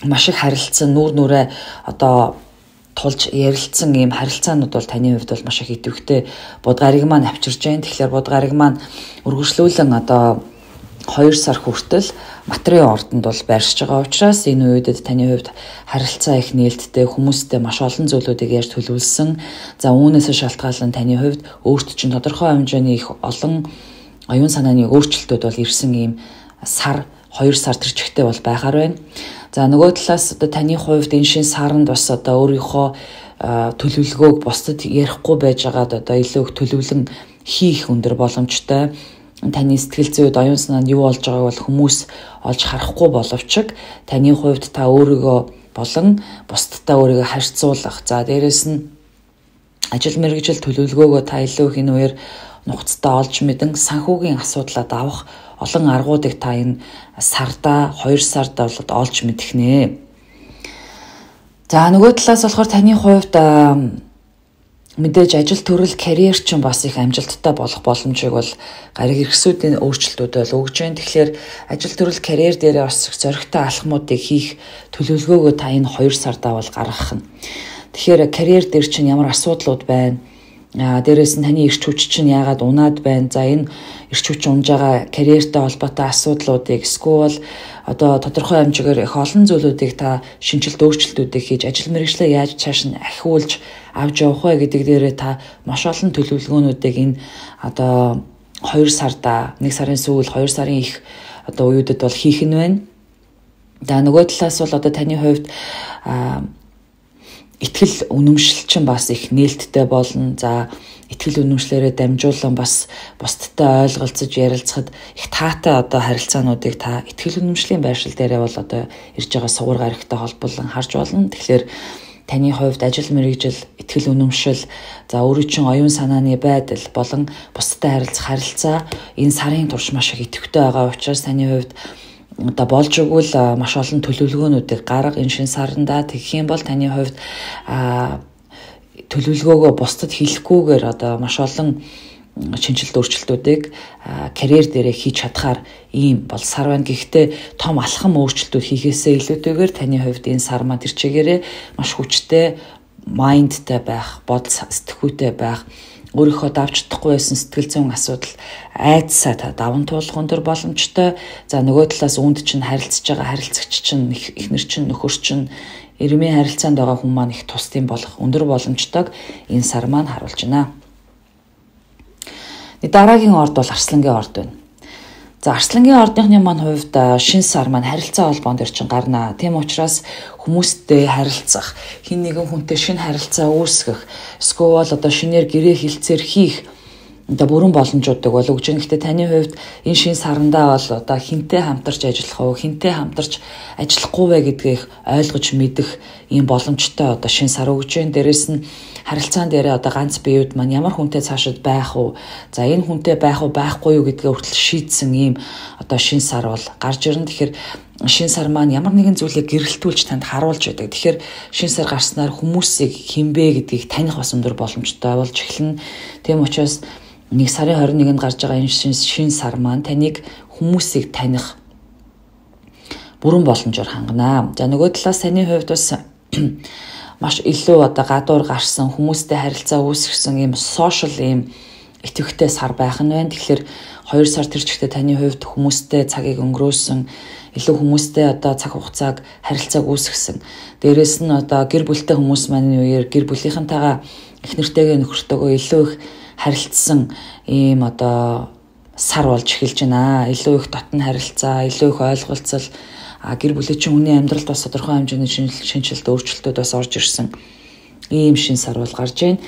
маш их харилцсан, нүүр нүрээ одоо тулж ярилцсан ийм харилцаанууд бол таны хувьд бол маш их идэвхтэй будгарыг маань авчирж байна. Тэгэхээр будгарыг маань үргэлжлүүлэн одоо хоёр сар хүртэл материалын ордонд бол байршиж байгаа учраас энэ үедэд таны хувьд харилцаа их нээлттэй, хүмүүстэй маш олон зүйлүүдийг яаж төлөвлөсөн. За үүнээс шалтгаалan таны хувьд өөрт чинь тодорхой хэмжээний их олон оюун санааны өөрчлөлтүүд бол ирсэн ийм сар хоёр сар тэр чигтээ бол байхаар байна. За нөгөө талаас одоо таны хувьд энэ шин саранд бас одоо өөрийнхөө төлөвлөгөөг бусдад ярихгүй байж байгаад одоо илүү их төлөвлөн хийх өндөр боломжтой. Таны сэтгэл зүйд оюун санаанд юу болж байгааг бол хүмүүс олж харахгүй боловч таны хувьд та өөрийгөө болон бусдтай өөрийгөө харьцуулах. За дээрэс нь ажил мэргэжил төлөвлөгөөгөө та илүү их энэ үеэр нухацтай олж мэдэн санхүүгийн асуудлаа давах олон аргуудыг та энэ сарда хоёр сарда бол олж мэдэх нэ. За нөгөө талаас болохоор таны хувьд мэдээж ажил төрөл карьер чинь бас их амжилттай болох боломжийг бол гариг эрхсүүдийн өөрчлөлтүүд бол өгж байна. Тэгэхээр ажил төрөл карьер дээр бас зоригтой алхмуудыг хийх төлөвлөгөөгөө та энэ хоёр сардаа бол гаргах нь. Тэгэхээр карьер дээр чинь ямар асуудлууд байна? А дээрээс нь таны эрч хүч чинь яагаад унаад байна? За энэ эрч хүч унж байгаа карьертэй холбоотой асуудлуудыг эсвэл одоо тодорхой хэмжээгээр их олон зүйлүүдийг та шинжилт өөрчлөлтүүдийг хийж ажил мэргэжлээ яаж цааш нь ахиулж авч явах вэ гэдэг дээрээ та маш олон төлөвлөгөөнүүдийг энэ одоо хоёр сарда нэг сарын сүүл хоёр сарын их одоо үеүүдэд бол хийх нь байна. За нөгөө талаас бол одоо таны хувьд итгэл үнэмшил чинь бас их нээлттэй болно. За итгэл үнэмшлээрээ дамжуулан бас бусдтай ойлголцож ярилцахад их таатай одоо харилцаануудыг та итгэл үнэмшлийн байршил дээрээ бол одоо ирж байгаа сугар гарагтай холбуулан харж болно. Тэгэхээр таны хувьд ажил мэргэжил, итгэл үнэмшил, за өөрийн чинь оюун санааны байдал болон бусдтай харилцах харилцаа энэ сарын турш маш их идэвхтэй байгаа учраас таны хувьд одоо болж өгвөл маш олон төлөвлөгөөнүүдийг гарга энэ шин саранда тэгэх юм бол таны хувьд төлөвлөгөөгөө бусдад хэлэхгүйгээр одоо маш олон шинжилт өөрчлөлтүүдийг карьер дээрээ хийж чадхаар ийм бол сар байна. Гэхдээ том алхам өөрчлөлтүүд хийхээсээ илүүтэйгээр таны хувьд энэ сар маань тэр чигээрээ маш хүчтэй майндтай байх, бодол сэтгхүйтэй байх, өөрийнхөө давж чадахгүй байсан сэтгэл зүйн асуудал айдсаа та даван туулах өндөр боломжтой. За нөгөө талаас үүнд чинь харилцаж байгаа харилцагч чинь эхнэр чинь нөхөр чинь эрмийн харилцаанд байгаа хүн маань их тусдын болох өндөр боломжтойг энэ сар маань харуулж байна. Дараагийн орд бол Арслангийн орд байна. За Арслангийн ордынхны маань хувьд шинэ сар маань харилцаа холбоон дээр чинь гарна. Тийм учраас хүмүүстэй харилцах, хин нэгэн хүнтэй шинэ харилцаа үүсгэх, эсвэл одоо шинээр гэрээ хилцээр хийх одоо бүрэн боломжуудыг бол өгж байгаа. Гэхдээ таны хувьд энэ шинэ сарандаа бол одоо хинтэй хамтарч ажиллах уу, хинтэй хамтарч ажиллахгүй вэ гэдгийг ойлгож мэдэх ийм боломжтой одоо шинэ сар өгж байна. Дээрээс нь харилцаан дээрээ одоо ганц биеуд маань ямар хүнтэй цаашид байх уу, за энэ хүнтэй байх уу байхгүй юу гэдгээ хүртэл шийдсэн ийм одоо шинэ сар бол гарч ирнэ. Тэгэхээр шинэ сар маань ямар нэгэн зүйлийг гэрэлтүүлж танд харуулж байдаг. Тэгэхээр шинэ сар гарснаар хүмүүсийг хинбэ гэдгийг таних бас өндөр боломжтой болж эхэлнэ. Тийм учраас нэг сарын хорин нэгэнд гарч байгаа энэ шинэ сар маань таныг хүмүүсийг таних бүрэн боломжоор хангана. За нөгөө талаас таны хувьд бас маш илүү одоо гадуур гарсан хүмүүстэй харилцаа үүсгэсэн ийм сошиал ийм идэвхтэй сар байх нь байна. Тэгэхээр хоёр сар тэр чигтээ таны хувьд хүмүүстэй цагийг өнгөрөөсөн, илүү хүмүүстэй одоо цаг хугацааг харилцааг үүсгэсэн. Дээрээс нь одоо гэр бүлтэй хүмүүс маань үеэр гэр бүлийнхэнтэйгээ эхнэртэйгээ нөхөртөөгөө илүү их харилцсан ийм одоо сар болж эхэлж байна. Илүү их дотн харилцаа, илүү их ойлголцол, а гэр бүлийн чинь хүний амьдралд бас тодорхой хэмжээний шинжилт өөрчлөлтүүд бас орж ирсэн ийм шин сар бол гарж байна.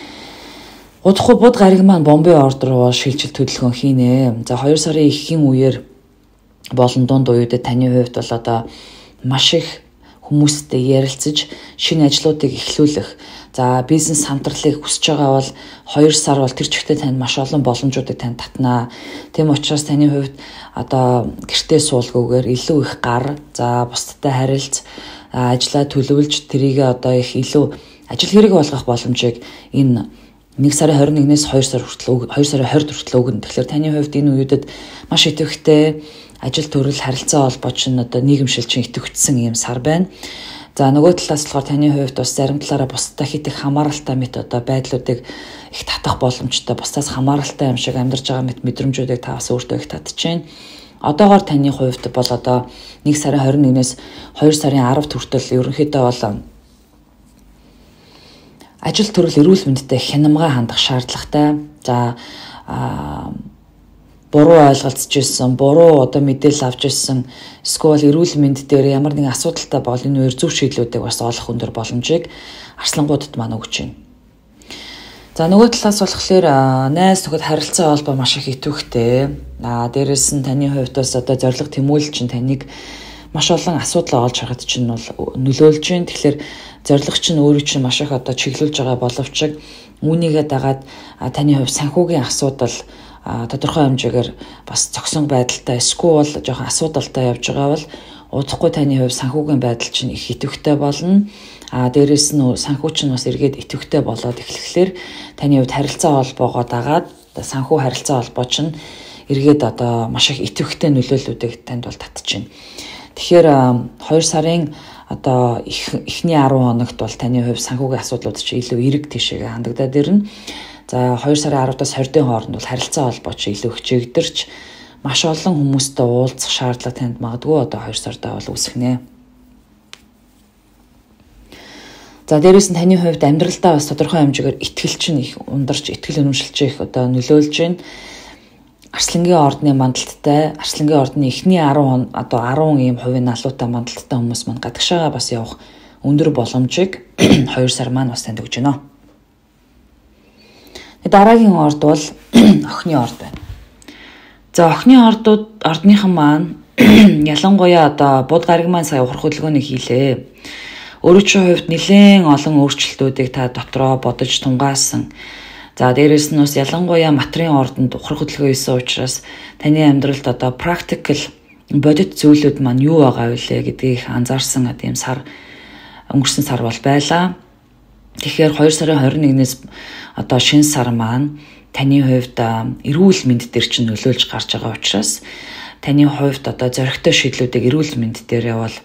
Удахгүй буд гариг маань Бомбей орд руу шилжилт хөдөлгөөн хийнэ. За хоёр сарын эхийн үеэр болон дунд үеүүдэд таны хувьд бол одоо маш их хүмүүстэй ярилцаж шинэ ажлуудыг эхлүүлэх, за бизнес хамтралыг хүсэж байгаа бол хоёр сар бол тэр чигтээ танд маш олон боломжуудыг танд татнаа. Тийм учраас таны хувьд одоо гэртээ суулгүйгээр илүү их гар, за бусдтай харилцаж, ажлаа төлөвлөж тэрийгээ одоо их илүү ажил хэрэг болгох боломжийг энэ нэг сарын хорин нэгнээс хоёр сар хүртэл хоёр сарын хорид хүртэл өгнө. Тэгэхээр таны хувьд энэ үеүүдэд маш идэвхтэй ажил төрөл харилцаа холбооч нь одоо нийгэмшилчин идэвхжсэн ийм сар байна. За нөгөө талаас болохоор таны хувьд бас зарим талаараа бусдаа хит их хамааралтай мэт одоо байдлуудыг их татах боломжтой, бусдаас хамааралтай юм шиг амьдарч байгаа мэт мэдрэмжүүдийг та бас өөртөө их татчихээн. Одоогоор таны хувьд бол одоо нэг сарын хорин нэгнээс хоёр сарын аравд хүртэл ерөнхийдөө бол ажил төрөл эрүүл мэндэд хянамга хандах шаардлагатай. За буруу ойлголцож ирсэн, буруу одоо мэдээлэл авч ирсэн, эсвэл эрүүл мэнд дээр ямар нэгэн асуудалтай бол энэ үеэр зөв шийдлүүдийг бас олох өндөр боломжийг арслангуудад маань өгч байна. За нөгөө талаас болохоор найз нөхөд харилцаа холбоо маш их идэвхтэй. Аа дээрэс нь таны хувьд бас одоо зориг тэмүүлэл чинь таныг маш олон асуудал олж харахад чинь бол нөлөөлж байна. Тэгэхээр зориг чинь өөрөө чинь маш их одоо чиглүүлж байгаа боловч үүнийгээ дагаад таны хувьд санхүүгийн асуудал тодорхой хэмжээгээр бас зогсон байдалтай, эсвэл жоохон асуудалтай явж байгаа бол удахгүй таны хувьд санхүүгийн байдал чинь их идэвхтэй болно. А дээрэс нь санхүү чинь бас эргээд идэвхтэй болоод эхлэхлээр таны хувьд харилцаа холбоогоо дагаад санхүү харилцаа холбоо чинь эргээд одоо маш их идэвхтэй нөлөөллүүдийг танд бол татчихна. Тэгэхээр хоёр сарын одоо эхний арван хоногт бол таны хувьд санхүүгийн асуудлууд чинь илүү эрэг тийшээгээ хандагдаад ирнэ. За хоёр сарын аравдаас хордын хооронд бол харилцаа холбооч илүү хичээгдэрч маш олон хүмүүстэй уулзах шаардлага танд магадгүй одоо хоёр сардаа бол үүсгэнэ. За дээрээс нь таны хувьд амьдралдаа бас тодорхой хэмжээгээр итгэл чинь их ундарч, итгэл үнэмшилж их одоо нөлөөлж байна. Арслангийн ордны мандалттай, Арслангийн ордны эхний арван одоо арван ийм хувийн налуутай мандалттай хүмүүс маань гадагшаага бас явах өндөр боломжийг хоёр сар маань бас танд өгч байна. Дараагийн орд бол охины орд байна. За охины ордууд ордныхан маань ялангуяа одоо буд гариг маань сая ухрах хөдөлгөөнийг хийлээ. Өөрөөр чинь хувьд нэлээд олон өөрчлөлтүүдийг та дотроо бодож тунгаасан. За дээрээс нь бас ялангуяа материйн ордонд ухрах хөдөлгөөн хийсэн учраас таны амьдралд одоо практикл бодит зүйлүүд маань юу байгаа вэ гэдгийг анзаарсан тийм сар өнгөрсөн сар бол байлаа. Тэгэхээр хоёр сарын хорин нэгнээс одоо шинэ сар маань таны хувьд эрүүл мэнд дээр чинь нөлөөлж гарч байгаа учраас таны хувьд одоо зоригтой шийдлүүдийг эрүүл мэнд дээр явал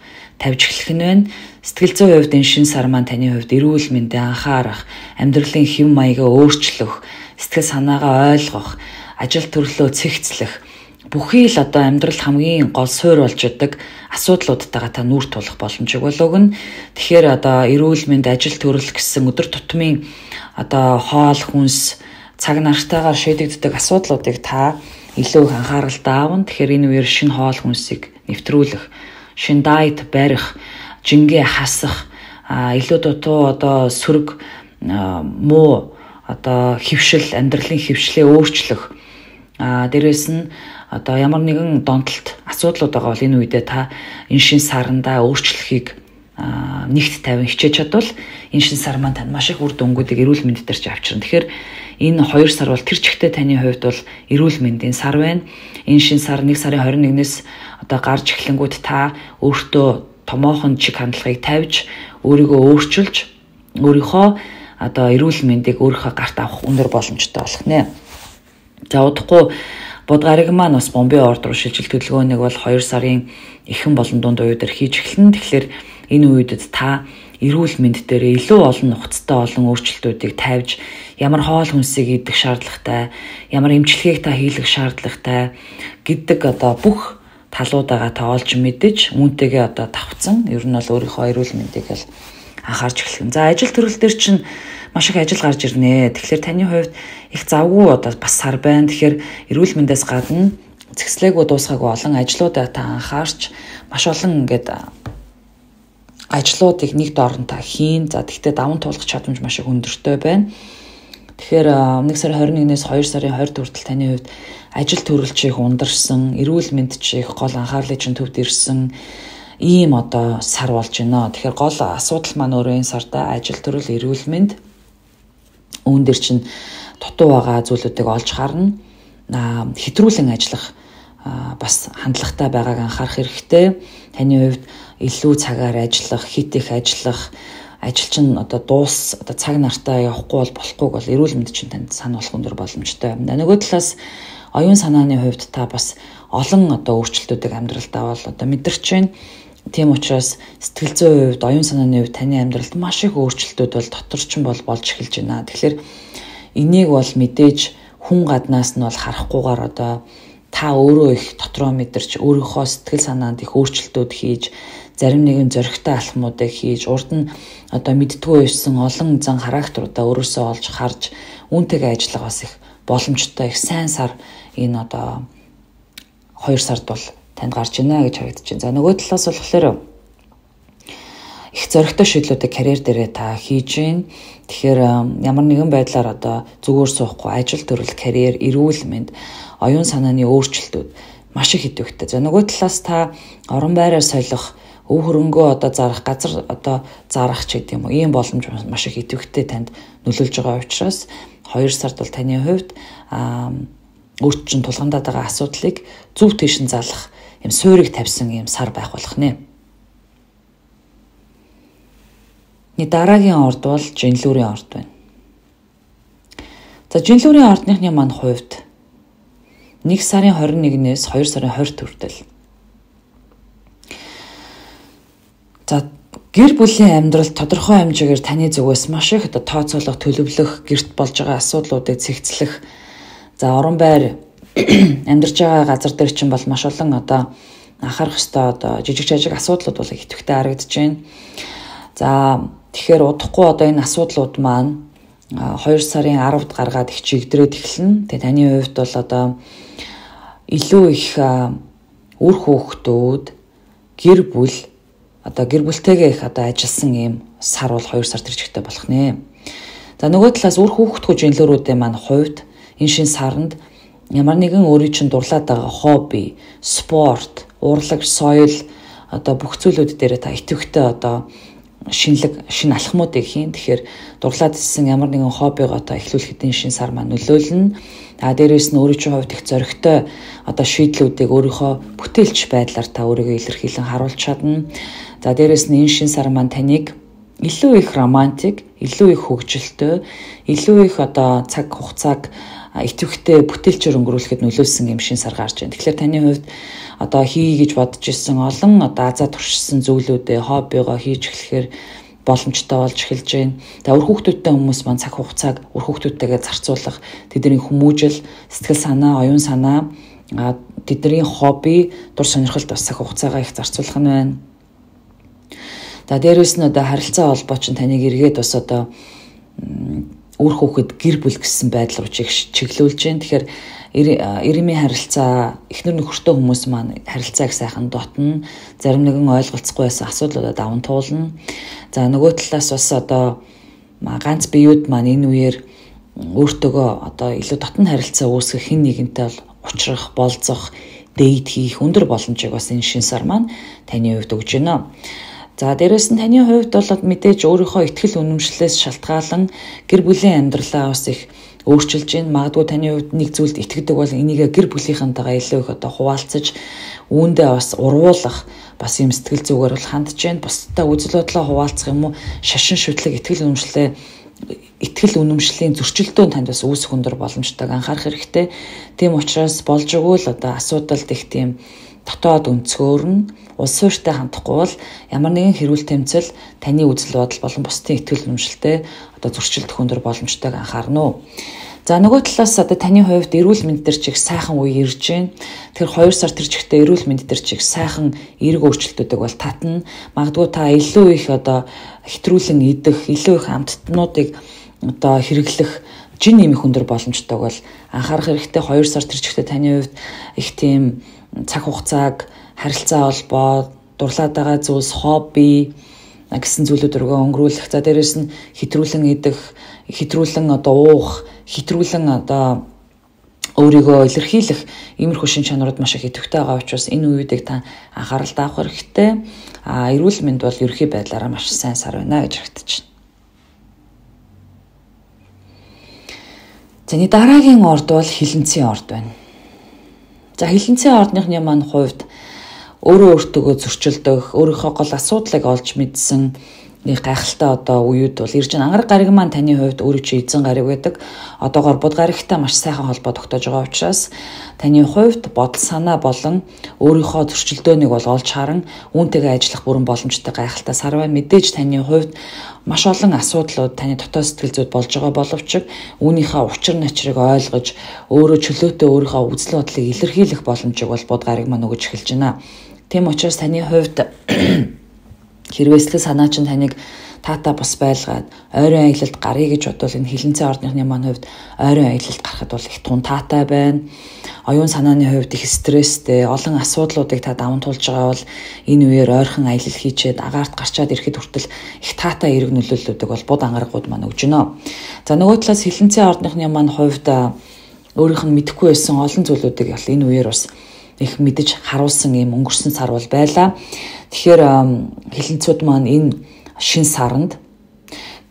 тавьж эхлэх нь байна. Сэтгэл зүйн хувьд энэ шин сар маань таны хувьд эрүүл мэндэд анхаарах, амьдралын хэв маягаа өөрчлөх, сэтгэл санаагаа ойлгох, ажил төрлөө цэгцлэх бүхий л одоо амьдралд хамгийн гол суурь болж идэг асуудлуудтайгаа та нүүр тулах боломжийг бол өгнө. Тэгэхээр одоо эрүүл мэнд, ажил төрөл гэсэн өдөр тутмын одоо хоол хүнс цаг нартайгаар шийдэгддэг асуудлуудыг та илүү их анхааралтай аавна. Тэгэхээр энэ үеэр шинэ хоол хүнсийг нэвтрүүлэх, шинэ дайет барих, жингээ хасах, илүү дутуу одоо сөрөг муу одоо хөвшил, амьдралын хөвшлээ өөрчлөх, дээрээс нь одоо ямар нэгэн донтолт асуудлууд байгаа бол энэ үедээ та энэ шин сарандаа өөрчлөхийг нэгт тавин хичээж чадвал энэ шин сар маань тань маш их үр дүнгуудыг эрүүл мэнд дээр ч авчирна. Тэгэхээр энэ хоёр сар бол тэр чигтээ таны хувьд бол эрүүл мэндийн сар байна. Энэ шин сар нэг сарын хорин нэгнээс одоо гарч эхлэнгүүт та өөртөө томоохон чиг хандлагыг тавьж өөрийгөө өөрчилж өөрийнхөө одоо эрүүл мэндийг өөрийнхөө гарт авах өндөр боломжтой болох нэ. За удахгүй Будгариг маань бас бомбын орд руу шилжил төлөвлөгөөнийг бол хоёр сарын эхэн болон дунд үеэр хийж эхэлнэ. Тэгэхээр энэ үедэд та эрүүл мэнд дээр илүү олон нухацтай олон өөрчлөлтүүдийг тавьж ямар хоол хүнсийг идэх шаардлагатай, ямар эмчилгээг та хийх шаардлагатай гэдэг одоо бүх талуудаагаа та олж мэдэж үүнтэйгээ одоо давхцсан. Ер нь бол өөрийнхөө эрүүл мэндийг л анхаарч эхлэх. За ажил төрөл дээр чинь маш их ажил гарч ирнэ. Тэгэхээр таны хувьд их завгүй одоо бас сар байна. Тэгэхээр эрүүл мэндээс гадна цэгцлээгүй дуусгаагүй олон ажлуудаа та анхаарч маш олон ингээд ажлуудыг нэг дорн та хийн. За тэгтээ даван туулах чадамж маш их өндөртэй байна. Тэгэхээр нэг сарын хорин нэгнээс хоёр сарын хоёрт хүртэл таны хувьд ажил төрөл чих ундарсан, эрүүл мэнд чих гол анхаарлын чинь төвд ирсэн ийм одоо сар болж байна. Тэгэхээр гол асуудал маань өөрөө энэ сарда ажил төрөл, эрүүл мэнд үүн дээр чинь дутуу байгаа зүйлүүдийг олж харна. Хэтрүүлэн ажиллах бас хандлагатай байгааг анхаарах хэрэгтэй. Таны хувьд илүү цагаар ажиллах, хит их ажиллах, ажил чинь одоо дуус одоо цаг нартаа явахгүй бол болохгүй бол эрүүл мэнд чинь танд санаа болох өндөр боломжтой. Нөгөө талаас оюун санааны хувьд та бас олон одоо өөрчлөлтүүдийг амьдралдаа бол одоо мэдэрч байна. Тийм учраас сэтгэл зүйн хувьд, оюун санааны хувьд таны амьдралд маш их өөрчлөлтүүд бол доторчин бол болж эхэлж байна. Тэгэхээр энийг бол мэдээж хүн гаднаас нь бол харахгүйгээр одоо та өөрөө их дотроо мэдэрч өөрийнхөө сэтгэл санаанд их өөрчлөлтүүд хийж, зарим нэгэн зөрөгтэй алхмуудыг хийж, урд нь одоо мэддгүй байсан олон зан характеруудаа өөрөөсөө олж харж, үүнтэйгээ ажиллах бас их боломжтой, их сайн сар энэ одоо хоёр сард бол танд гарч байна гэж харагдаж байна. За нөгөө талаас болохоор их зөрөгтэй шийдлүүдийг карьер дээрээ та хийж байна. Тэгэхээр ямар нэгэн байдлаар одоо зүгээр суухгүй ажил төрөл, карьер, эрүүл мэнд, оюун санааны өөрчлөлтүүд маш их идэвхтэй. За нөгөө талаас та орон байраа солих, өв хөрөнгөө одоо зарах, газар одоо зарах ч гэдэг юм уу, ийм боломж маш их идэвхтэй танд нөлөөлж байгаа учраас хоёр сард бол таны хувьд өөрт чинь тулгамдаад байгаа асуудлыг зөв тийшин залах юм суурийг тавьсан юм сар байх болох нэ. Дараагийн орд бол жинлүүрийн орд байна. За жинлүүрийн ордныхны маань хувьд нэг сарын хорин нэгнээс хоёр сарын хорьт хүртэл за гэр бүлийн амьдралд тодорхой хэмжээгээр таны зүгээс маш их одоо тооцоолох, төлөвлөх, гэрт болж байгаа асуудлуудыг цэгцлэх, за орон байр амьдарч байгаа газар дээр чинь бол маш олон одоо анхаарах ёстой одоо жижиг жижиг асуудлууд бол идэвхтэй харагдаж байна. За тэгэхээр удахгүй одоо энэ асуудлууд маань хоёр сарын аравд гаргаад их чигдрээд эхэлнэ. Тэгээ таны хувьд бол одоо илүү их үр хүүхдүүд, гэр бүл одоо гэр бүлтэйгээ их одоо ажилласан ийм сар бол хоёр сар төрчтэй болох нэ. За нөгөө талаас үр хүүхдгүү жинлүүрүүдийн маань хувьд энэ шин саранд ямар нэгэн өөрийн чинь дурлаад байгаа хобби, спорт, урлаг, соёл одоо бүх зүйлүүд дээр та идэвхтэй одоо шинэлэг, шинэ алхмуудыг хийн. Тэгэхээр дурлаад ирсэн ямар нэгэн хоббигоо одоо эхлүүлэхэд энэ шин сар маань нөлөөлнө. А дээрээс нь өөрийн чинь хувьд их зоригтой одоо шийдлүүдийг өөрийнхөө бүтээлч байдлаар та өөрийгөө илэрхийлэн харуулж чадна. За дээрээс нь энэ шин сар маань таныг илүү их романтик, илүү их хөгжилтэй, илүү их одоо цаг хугацааг идэвхтэй бүтээлчээр өнгөрүүлэхэд нөлөөлсөн юм шин сар гарч байна. Тэгэхээр таны хувьд одоо хий гэж бодож исэн олон одоо азаа туршсан зүйлүүдээ хоббигоо хийж эхлэхээр боломжтой болж эхэлж байна. За үр хүүхдүүдтэй хүмүүс маань цаг хугацааг үр хүүхдүүдтэйгээ зарцуулах, тэдний хүмүүжил, сэтгэл санаа, оюун санаа, тэдний хобби, дур сонирхолд бас цаг хугацаагаа их зарцуулах нь байна. За дээрээс нь одоо харилцаа холбоо чинь таныг эргээд бас одоо үр хүүхэд гэр бүл гэсэн байдал руу чиглүүлж байна. Тэгэхээр эрэмийн харилцаа, эхнэр нөхөртэй хүмүүс маань харилцааг сайхан дотно, зарим нэгэн ойлголцохгүй байсан асуудлуудад даван туулна. За нөгөө талаас бас одоо ганц биеуд маань энэ үеэр өөртөөгөө одоо илүү дотн харилцаа үүсгэх, хэн нэгэнтэй бол уулзах, болцох, дэйт хийх өндөр боломжийг бас энэ шин сар маань таны хувьд өгж байна. За дээрэс нь таны хувьд бол мэдээж өөрийнхөө ихтгэл үнэмшлээс шалтгаалan гэр бүлийн амьдралаа бас их өөрчилж байна. Магадгүй таны хувьд нэг зүйлд итгэдэг бол энийг гэр бүлийнхэнтэйгээ илүү их одоо хуваалцаж үүндээ бас урвуулах бас юм сэтгэл зүгээр бол хандж байна. Бусдаа үзэл бодлоо хуваалцах юм уу, шашин шүтлэг ихтгэл үнэмшлээ ихтгэл үнэмшлийн зөрчилдөөн танд бас үүсэх өндөр боломжтойг анхаарах хэрэгтэй. Тийм учраас болж өгвөл одоо асуудалд их тийм дотоод өнцгөр нь улс суурьтай хандахгүй бол ямар нэгэн хэрүүл тэмцэл таны үзэл бодол болон бусдын ихтгэл үнэмшилтэй одоо зөрчилдөх өндөр боломжтойг анхаарна уу. За нөгөө талаас одоо таны хувьд эрүүл мэнд төр чиг сайхан үе ирж байна. Тэгэхээр хоёр сар тэр чигтээ эрүүл мэнд төр чиг сайхан эерэг өөрчлөлтүүдийг бол татна. Магадгүй та илүү их одоо хэтрүүлэн идэх, илүү их амттнуудыг одоо хэрэглэх жин нэмэх өндөр боломжтойг бол анхаарах хэрэгтэй. хоёр сар тэр чигтээ таны хувьд их тийм цаг хугацааг харилцаа холбоо, дурлаад байгаа зүйлс, хобби гэсэн зүйлүүд рүү өнгөрүүлэх. За дээрэс нь хэтрүүлэн идэх, хэтрүүлэн одоо уух, хэтрүүлэн одоо өөрийгөө илэрхийлэх иймэрхүү шин чанарууд маш их идэвхтэй байгаа учраас энэ үеүүдийг та анхаарал таах хэрэгтэй. А эрүүл мэнд бол ерөнхий байдлаараа маш сайн сар байна гэж харагдаж байна. Зэний дараагийн орд бол хилэнцгийн орд байна. За хилэнцгийн ордныхны маань хувьд өөрөө өөртөөгөө зөрчилдөх, өөрийнхөө гол асуудлыг олж мэдсэн нэг гайхалтай одоо үеуд бол ирж байгаа. Ангараг гариг маань таны хувьд өөрөө чи эзэн гариг байдаг. Одоогоор бод гаригтай маш сайхан холбоо тогтоож байгаа учраас таны хувьд бодол санаа болон өөрийнхөө зөрчилдөөнийг бол олж харан үүнтэйгээ ажиллах бүрэн боломжтой гайхалтай сар байна. Мэдээж таны хувьд маш олон асуудлууд таны дотоод сэтгэл зүйд болж байгаа боловч үүнийхээ учир начрыг ойлгож өөрөө чөлөөтэй өөрийнхөө үзэл бодлыг илэрхийлэх боломжийг бол бод гариг маань өгөж эхэлж байна. Тийм учраас таны хувьд хэрвээ сэтгэл санаа чинь таныг таата бас байлгаад ойрын аялалд гарыг гэж бодвол энэ хилэнцгийн ордныхны маань хувьд ойрын аялалд гарахад бол их тун таатай байна. Оюун санааны хувьд их стресстэй, олон асуудлуудыг та даван туулж байгаа бол энэ үеэр ойрхон аялал хийчээд агаарт гарчаад ирэхэд хүртэл их таатай эерэг нөлөөллүүдийг бол бод ангарагууд маань өгж байна. За нөгөө талаас хилэнцгийн ордныхны маань хувьд өөрийнх нь мэдэхгүй байсан олон зүйлүүдийг бол энэ үеэр бас их мэдэж харуулсан юм өнгөрсөн сар бол байлаа. Тэгэхээр хилэнцүүд маань энэ шин саранд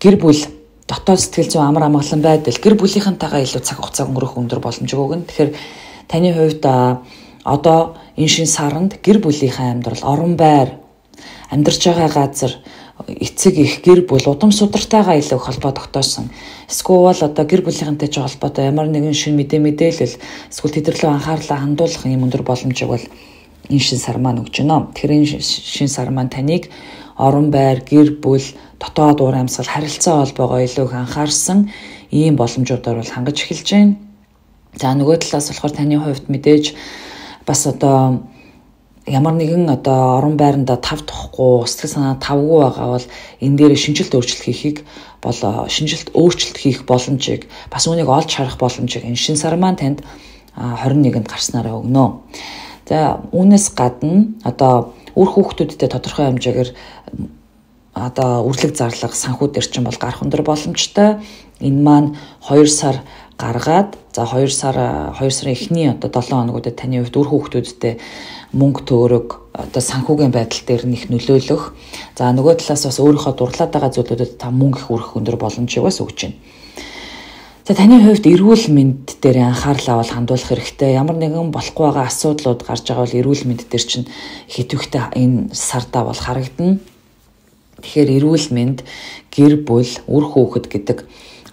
гэр бүл дотоод сэтгэл зүйн амар амгалан байдал гэр бүлийнхэнтэйгээ илүү цаг хугацаа өнгөрөх өндөр боломжийг өгнө. Тэгэхээр таны хувьд одоо энэ шин саранд гэр бүлийнхээ амьдрал, орон байр, амьдарч байгаа газар, эцэг их гэр бүл удам судартайгаа илүү холбоо тогтоосон. Эсвэл одоо гэр бүлийнхэнтэй ч холбоотой ямар нэгэн шин мэдээ мэдээлэл эсвэл тэдэрлүү анхаарлаа хандуулах юм өндөр боломжийг бол энэ шин сар маань өгч байна. Тэгэхээр энэ шин сар маань таныг орон байр, гэр бүл, дотоод уур амьсгал, харилцаа холбоогоо илүү их анхаарсан ийм боломжуудаар бол хангаж эхэлж байна. За нөгөө талаас болохоор таны хувьд мэдээж бас одоо ямар нэгэн одоо орон байранда тав тухгүй, сэтгэл санаа тавгүй байгаа бол энэ дээр шинжилт өөрчлөлт хийхийг бол шинжилт өөрчлөлт хийх боломжийг бас үүнийг олж харах боломжийг энэ шин сар маань танд хорин нэгэнд гарснараа өгнө. За үүнээс гадна одоо үр хүүхдүүдтэй тодорхой хэмжээгээр одоо үрлэг зарлага санхүү дээр чинь бол гарах өндөр боломжтой. Энэ маань хоёр сар гаргаад за хоёр сар хоёр сарын эхний одоо долоон хоногудад таны хувьд үр хүүхдүүдтэй мөнгө төгрөг одоо санхүүгийн байдал дээр нэх нөлөөлөх. За нөгөө талаас бас өөрийнхөө дурлаад байгаа зүйлүүдэд та мөнгө их үрэх өндөр боломжийг бас өгч байна. За таны хувьд эрүүл мэнд дээр анхаарлаа бол хандуулах хэрэгтэй. Ямар нэгэн болохгүй байгаа асуудлууд гарч байгаа бол эрүүл мэнд дээр чинь хэтвэхтэй энэ сардаа бол харагдана. Тэгэхээр эрүүл мэнд, гэр бүл, үр хүүхэд гэдэг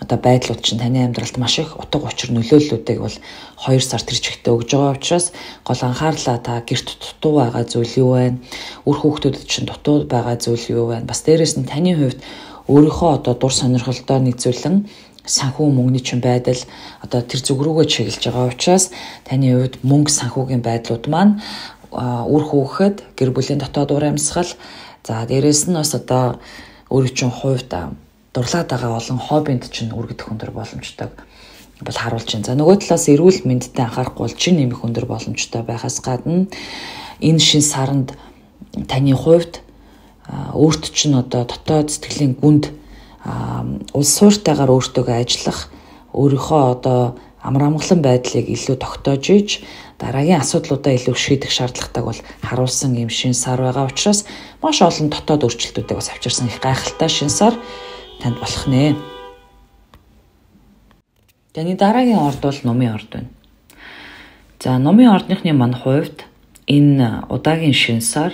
одоо байдлууд чинь таны амьдралд маш их утга учир нөлөөллүүдийг бол хоёр сар тэр чигтээ өгж байгаа учраас гол анхаарлаа та гэрт дутуу байгаа зүйл юу вэ? Үр хүүхдүүдэд чинь дутуу байгаа зүйл юу вэ? Бас дээрэс нь таны хувьд өөрийнхөө одоо дур сонирхолдоо нийцүүлэн санхүү мөнгөний чинь байдал одоо тэр зүг рүүгээ чиглэж байгаа учраас таны хувьд мөнгө санхүүгийн байдлууд маань үр хүүхэд, гэр бүлийн дотоод уур амьсгал, за дээрэс нь бас одоо өөрийн чинь хувьд дурлаад байгаа олон хоббинд чинь үргэлжлэх өндөр боломжтой бол харуулж байна. За нөгөө талаас эрүүл мэндэд анхаарахгүй бол чин нэмэх өндөр боломжтой байхаас гадна энэ шин саранд таны хувьд өөрт чинь одоо дотоод сэтгэлийн гүнд улс суурьтайгаар өөртөөгөө ажиллах, өөрийнхөө одоо амар амгалан байдлыг илүү тогтоож иж дараагийн асуудлуудаа илүү шийдэх шаардлагатайг бол харуулсан юм шин сар байгаа учраас маш олон дотоод өөрчлөлтүүдийг бас авчирсан их гайхалтай шин сар танд болох нэ. Таны дараагийн орд бол номын орд байна. За номын ордныхны мань хувьд энэ удаагийн шин сар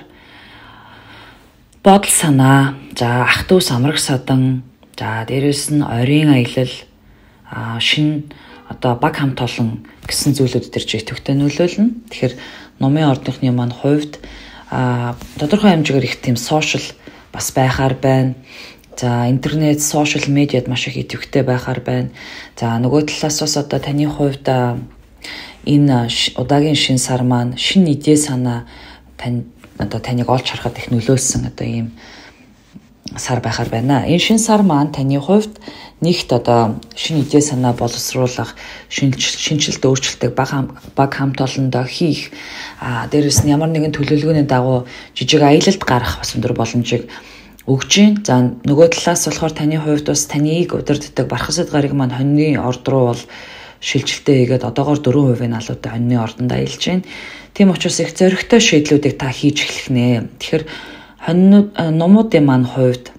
бодол санаа, за ах дүү самраг садан, за дээрэс нь ойрын аялал, шин одоо баг хамт олон гэсэн зүйлүүд төр ч идэвхтэй нөлөөлнө. Тэгэхээр номын ордныхны мань хувьд тодорхой хэмжээгээр их тийм сошиал бас байхаар байна. За интернет, сошиал медиад маш их идэвхтэй байхаар байна. За нөгөө талаас бас одоо таны хувьд энэ удаагийн шин сар маань шин идея санаа тань одоо таныг олж харахад их нөлөөлсөн одоо ийм сар байхаар байна. Энэ шин сар маань таны хувьд нэгт одоо шинэ идея санаа боловсруулах, шинжилт өөрчлөлтийг баг хамт олондоо хийх, а дээрэс нь ямар нэгэн төлөвлөгөөний дагуу жижиг аялалд гарах бас өндөр боломжийг өгж байна. За нөгөө талаас болохоор таны хувьд бас таныг удирддаг Бархасад гариг маань хоньны орд руу бол шилжилтээ хийгээд одоогоор дөрвөн хувийн алуутай хоньны ордонд аялж байна. Тийм учраас их зоригтой шийдлүүдийг та хийж эхлэх нэ. Тэгэхээр хоньнууд номуудын маань хувьд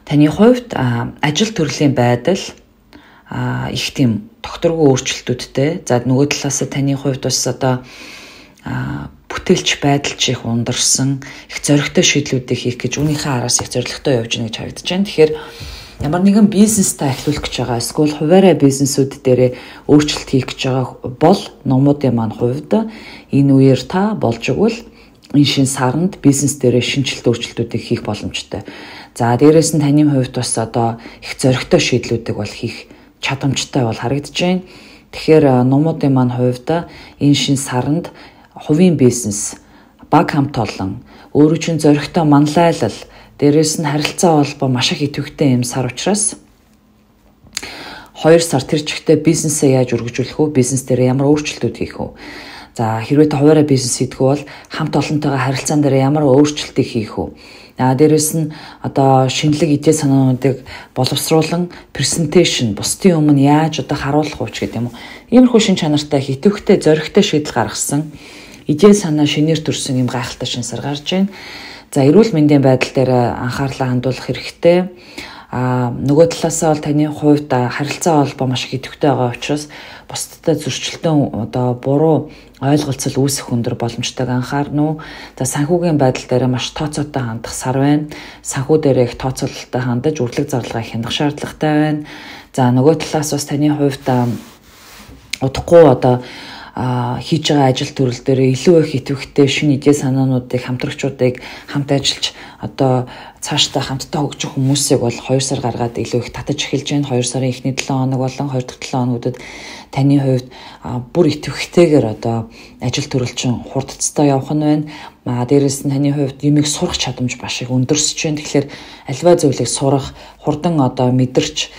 таны хувьд ажил төрлийн байдал их тийм докторгүй өөрчлөлтүүдтэй. За нөгөө талаас таны хувьд бас одоо бүтээлч байдалч их ундарсан, их зоригтой шийдлүүдийг хийх гэж үүнийхээ араас их зоригтой явж гэнэ гэж харагдаж байна. Тэгэхээр ямар нэгэн бизнес та эхлүүлэх гэж байгаа, эсвэл хуваарай бизнесүүд дээрээ өөрчлөлт хийх гэж байгаа бол номуудын маань хувьд энэ үеэр та болж игэл энэ шин саранд бизнес дээрээ шинжилт өөрчлөлтүүдийг хийх боломжтой. За дээрээс нь таны хувьд бас одоо их зоригтой шийдлүүдийг бол хийх чадамжтай бол харагдаж байна. Тэгэхээр номуудын маань хувьд энэ шин саранд хувийн бизнес, баг хамт олон, өөрөө чинь зоригтой манлайлал, дээрээс нь харилцаа холбоо маш их идэвхтэй юм сар учраас хоёр сар тэр чигтээ бизнесээ яаж өргөжүүлэх вэ? Бизнес дээр ямар өөрчлөлтүүд хийх вэ? За хэрвээ та хуваарай бизнес хийдэг бол хамт олонтойгоо харилцаан дээр ямар өөрчлөлтийг хийх вэ? А дээрээс нь одоо шинэлэг идея санаануудыг боловсруулан презентацийн бусдын өмнө яаж одоо харуулах вэ гэдэг юм уу? Иймэрхүү шин чанартай идэвхтэй зоригтой шийдэл гаргасан идея санаа шинээр төрсөн юм гайхалтай шин сар гарч байна. За эрүүл мэндийн байдал дээр анхаарлаа хандуулах хэрэгтэй. А нөгөө талаасаа бол таны хувьд харилцаа холбоо маш их идэвхтэй байгаа учраас бусдтай зөрчилтөн одоо буруу ойлголцол үүсэх өндөр боломжтойг анхаарна уу. За санхүүгийн байдал дээр маш тооцоотой хандах сар байна. Санхүү дээр их тооцоололтой хандаж үрлэг зарлага хянах шаардлагатай байна. За нөгөө талаас бас таны хувьд удахгүй одоо хийж байгаа ажил төрөл дээр илүү их идэвхтэй шинэ идея санаануудыг хамтрагчдыг хамт ажиллаж одоо цаашдаа хамтдаа хөгжих хүмүүсийг бол хоёр сар гаргаад илүү их татаж эхэлж байна. хоёр сарын эхний долоон хоног болон хоёр дахь долоон хоногудад таны хувьд бүр идэвхтэйгээр одоо ажил төрөл чинь хурдцтай явах нь байна. А дээрээс нь таны хувьд юмыг сурах чадамж маш их өндөрсөж байна. Тэгэхээр альва зүйлийг сурах, хурдан одоо мэдэрч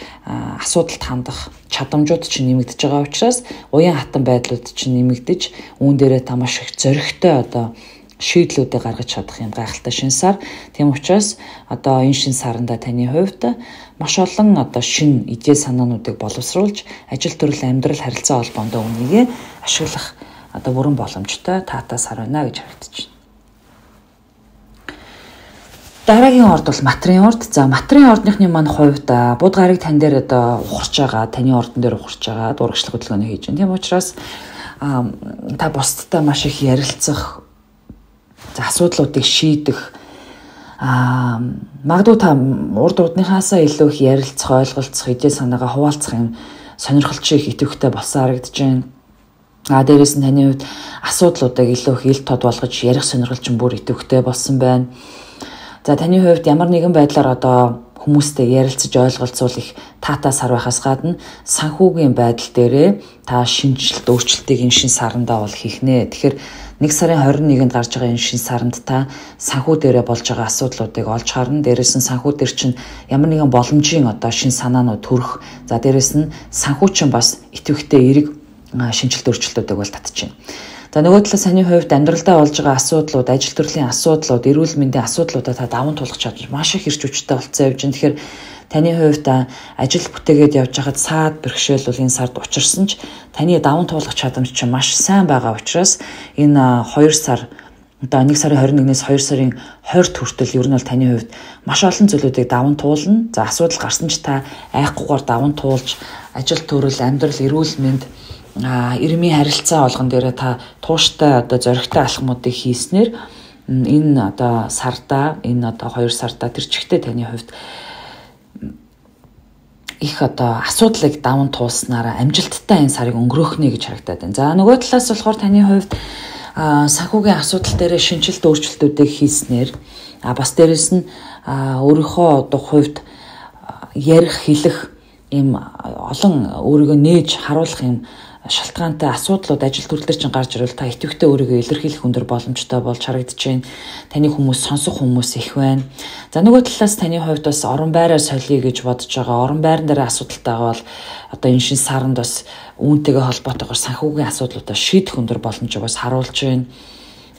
асуудалд хандах чадамжууд чинь нэмэгдэж байгаа учраас уян хатан байдлууд чинь нэмэгдэж үүн дээрээ та маш их зоригтой одоо шийдлүүдийг гаргаж чадах юм гайхалтай шин сар. Тийм учраас одоо энэ шин саранда таны хувьд маш олон одоо шин идея санаануудыг боловсруулж ажил төрөл амьдрал харилцаа холбоонд үүнийг ашиглах одоо бүрэн боломжтой таатай сар байна гэж харагдаж байна. Дараагийн орд бол материйн орд. За материйн ордныхны маань хувьд бууд гарыг тань дээр одоо ухарч байгаа, таны ордон дээр ухарч байгаа дурагчлах хөдөлгөөний хийж байна. Тийм учраас та бусдтай маш их ярилцах, за асуудлуудыг шийдэх, Аа магадгүй та урд урдныхаасаа илүү их ярилцах, ойлголцох, идээ санаагаа хуваалцах юм сонирхолч их идэвхтэй болсон харагдаж байна. А дээрээс нь таны хувьд асуудлуудыг илүү их ил тод болгож ярих сонирхол чинь бүр идэвхтэй болсон байна. За таны хувьд ямар нэгэн байдлаар одоо хүмүүстэй ярилцаж ойлголцуулах таатаа сар байхаас гадна санхүүгийн байдал дээрээ та шинжилт өөрчлөлтийг энэ шин сарандаа бол хийх нэ. Тэгэхээр нэг сарын хорин нэгэнд гарч байгаа энэ шин саранд та санхүү дээрээ болж байгаа асуудлуудыг олж харна. Дээрээс нь санхүү дээр чинь ямар нэгэн боломжийн одоо шин санаанууд төрөх. За дээрээс нь санхүү чинь бас идэвхтэй эерэг шинжилт өөрчлөлтүүдийг бол татчихна. За нөгөө талаас таны хувьд амьдралдаа болж байгаа асуудлууд, ажил төрлийн асуудлууд, эрүүл мэндийн асуудлуудаа та даван туулах чадвар маш их ирч хүчтэй болцсон явж байна. Тэгэхээр таны хувьд ажил бүтээгээд явж байхад саад бэрхшээл бол энэ сард учирсан ч таны даван туулах чадамж чинь маш сайн байгаа учраас энэ хоёр сар одоо нэг сарын хорин нэгнээс хоёр сарын хойд хүртэл ер нь бол таны хувьд маш олон зүйлүүдийг даван туулна. За асуудал гарсан ч та айхгүйгээр даван туулж ажил төрөл, амьдрал, эрүүл мэнд а ирмийн харилцаа олгон дээрээ та тууштай одоо зоригтой алхмуудыг хийснээр энэ одоо сарда энэ одоо хоёр сарда тэр чигтээ таны хувьд их одоо асуудлыг даван туулснараа амжилттай энэ сарыг өнгөрөөх нэ гэж харагдаад байна. За нөгөө талаас болохоор таны хувьд санхүүгийн асуудал дээрээ шинжилт өөрчлөлтүүдийг хийснээр а бас дээрэс нь өөрийнхөө одоо хувьд ярих, хэлэх ийм олон өөрийгөө нээж харуулах юм шалтгаантай асуудлууд ажил төрлөөр чинь гарч ирвэл та идэвхтэй өөрийгөө илэрхийлэх өндөр боломжтой болж харагдаж байна. Таны хүмүүс сонсох хүмүүс их байна. За нөгөө талаас таны хувьд бас орон байраа солиё гэж бодож байгаа. Орон байран дээр асуудалтай байгаа бол одоо энэ шин саранд бас үүнтэйгээ холбоотойгоор санхүүгийн асуудлуудаа шийдэх өндөр боломжийг бас харуулж байна.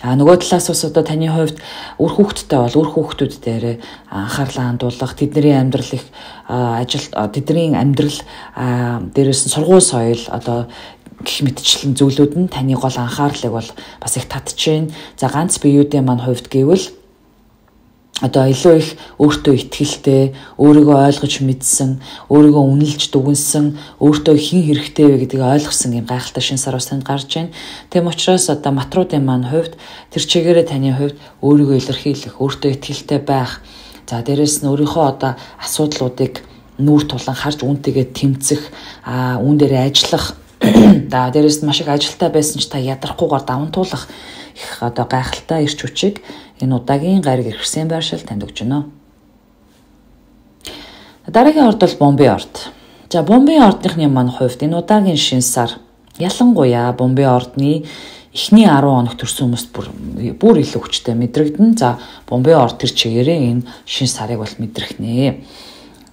А нөгөө талаас бас одоо таны хувьд үр хүүхдтэй бол үр хүүхдүүд дээр анхаарлаа хандуулах, тэдний амьдрал их ажил тэдний амьдрал дээрээс нь сургууль соёл одоо гэх мэтчлэн зүйлүүд нь таны гол анхаарлыг бол бас их татчихээн. За ганц биеүүдийн маань хувьд гэвэл одоо илүү их өөртөө итгэлтэй, өөрийгөө ойлгож мэдсэн, өөрийгөө үнэлж дүгнсэн, өөртөө хэн хэрэгтэй вэ гэдгийг ойлгосон юм гайхалтай шин сар бас танд гарч байна. Тэм учраас одоо матруудын маань хувьд тэр чигээрээ таны хувьд өөрийгөө илэрхийлэх, өөртөө итгэлтэй байх. За дээрэс нь өөрийнхөө одоо асуудлуудыг нүүр тулан харж үүнтэйгээ тэмцэх, а үүн дээр ажиллах. За дээрэс нь маш их ажилтаа байсан ч та ядрахгүйгээр даван туулах их одоо гайхалтай ирч хүчийг энэ удаагийн гариг ирсэн байршил танд өгч байна. Дараагийн орд бол Бомбей орд. За Бомбей ордныхны маань хувьд энэ удаагийн шин сар ялангуяа Бомбей ордны эхний арван хоног төрсэн хүмүүст бүр бүр илүү хүчтэй мэдрэгдэн. За Бомбей орд тэр чигээрээ энэ шин сарыг бол мэдрэх нэ.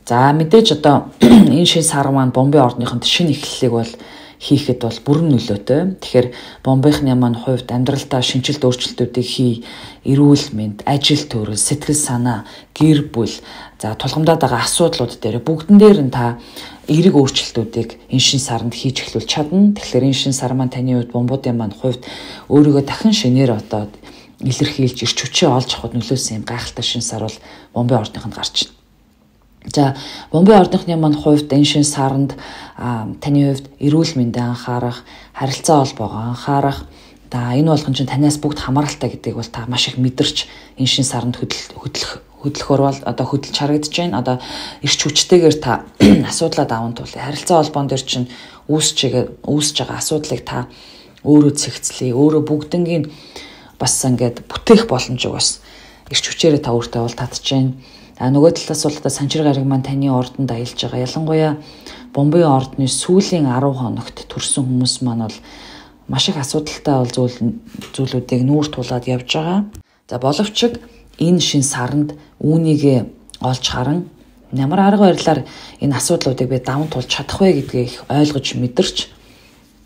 За мэдээж одоо энэ шин сар маань Бомбей ордныхонд шинэ эхлэлийг бол хийхэд бол бүрэн нөлөөтэй. Тэгэхээр Бомбейхны маань хувьд амьдралдаа шинжилт өөрчлөлтүүдийг хий, эрүүл мэнд, ажил төрөл, сэтгэл санаа, гэр бүл, за тулгамдаад байгаа асуудлууд дээр бүгдэн дээр нь та эерэг өөрчлөлтүүдийг энэ шин саранд хийж эхлүүл чадна. Тэгэхээр энэ шин сар маань таны хувьд Бомбуудын маань хувьд өөрийгөө дахин шинээр одоо илэрхийлж ирч хүчээ олж авахд нөлөөсөн юм гайхалтай шин сар бол Бомбей ордныхонд гарч байна. За Бомбей ордныхны маань хувьд энэ шин саранд таны хувьд эрүүл мэндэд анхаарах, харилцаа холбоогоо анхаарах. За энэ болгон чинь танаас бүгд хамааралтай гэдгийг бол та маш их мэдэрч энэ шин саранд хөдөлөх хөдөлгөөр бол одоо хөдөлж харагдаж байна. Одоо ирч хүчтэйгээр та асуудлаа даван туулъя. Харилцаа холбоон дээр чинь үүсэж үүсэж байгаа асуудлыг та өөрөө цэгцлэе. Өөрөө бүгднгийн бас ингээд бүтээх боломжийг бас ирч хүчээрээ та өөртөө бол татж байна. А нөгөө талаас бол одоо санчир гариг маань таны ордонд аялж байгаа. Ялангуяа Бомбей ордны сүүлийн арван хоногт төрсэн хүмүүс маань бол маш их асуудалтай бол зүйл зүйлүүдийг нүүр тулаад явж байгаа. За боловч энэ шин саранд үүнийг олж харан ямар арга барилаар энэ асуудлуудыг би даван туулж чадах вэ гэдгийг ойлгож мэдэрч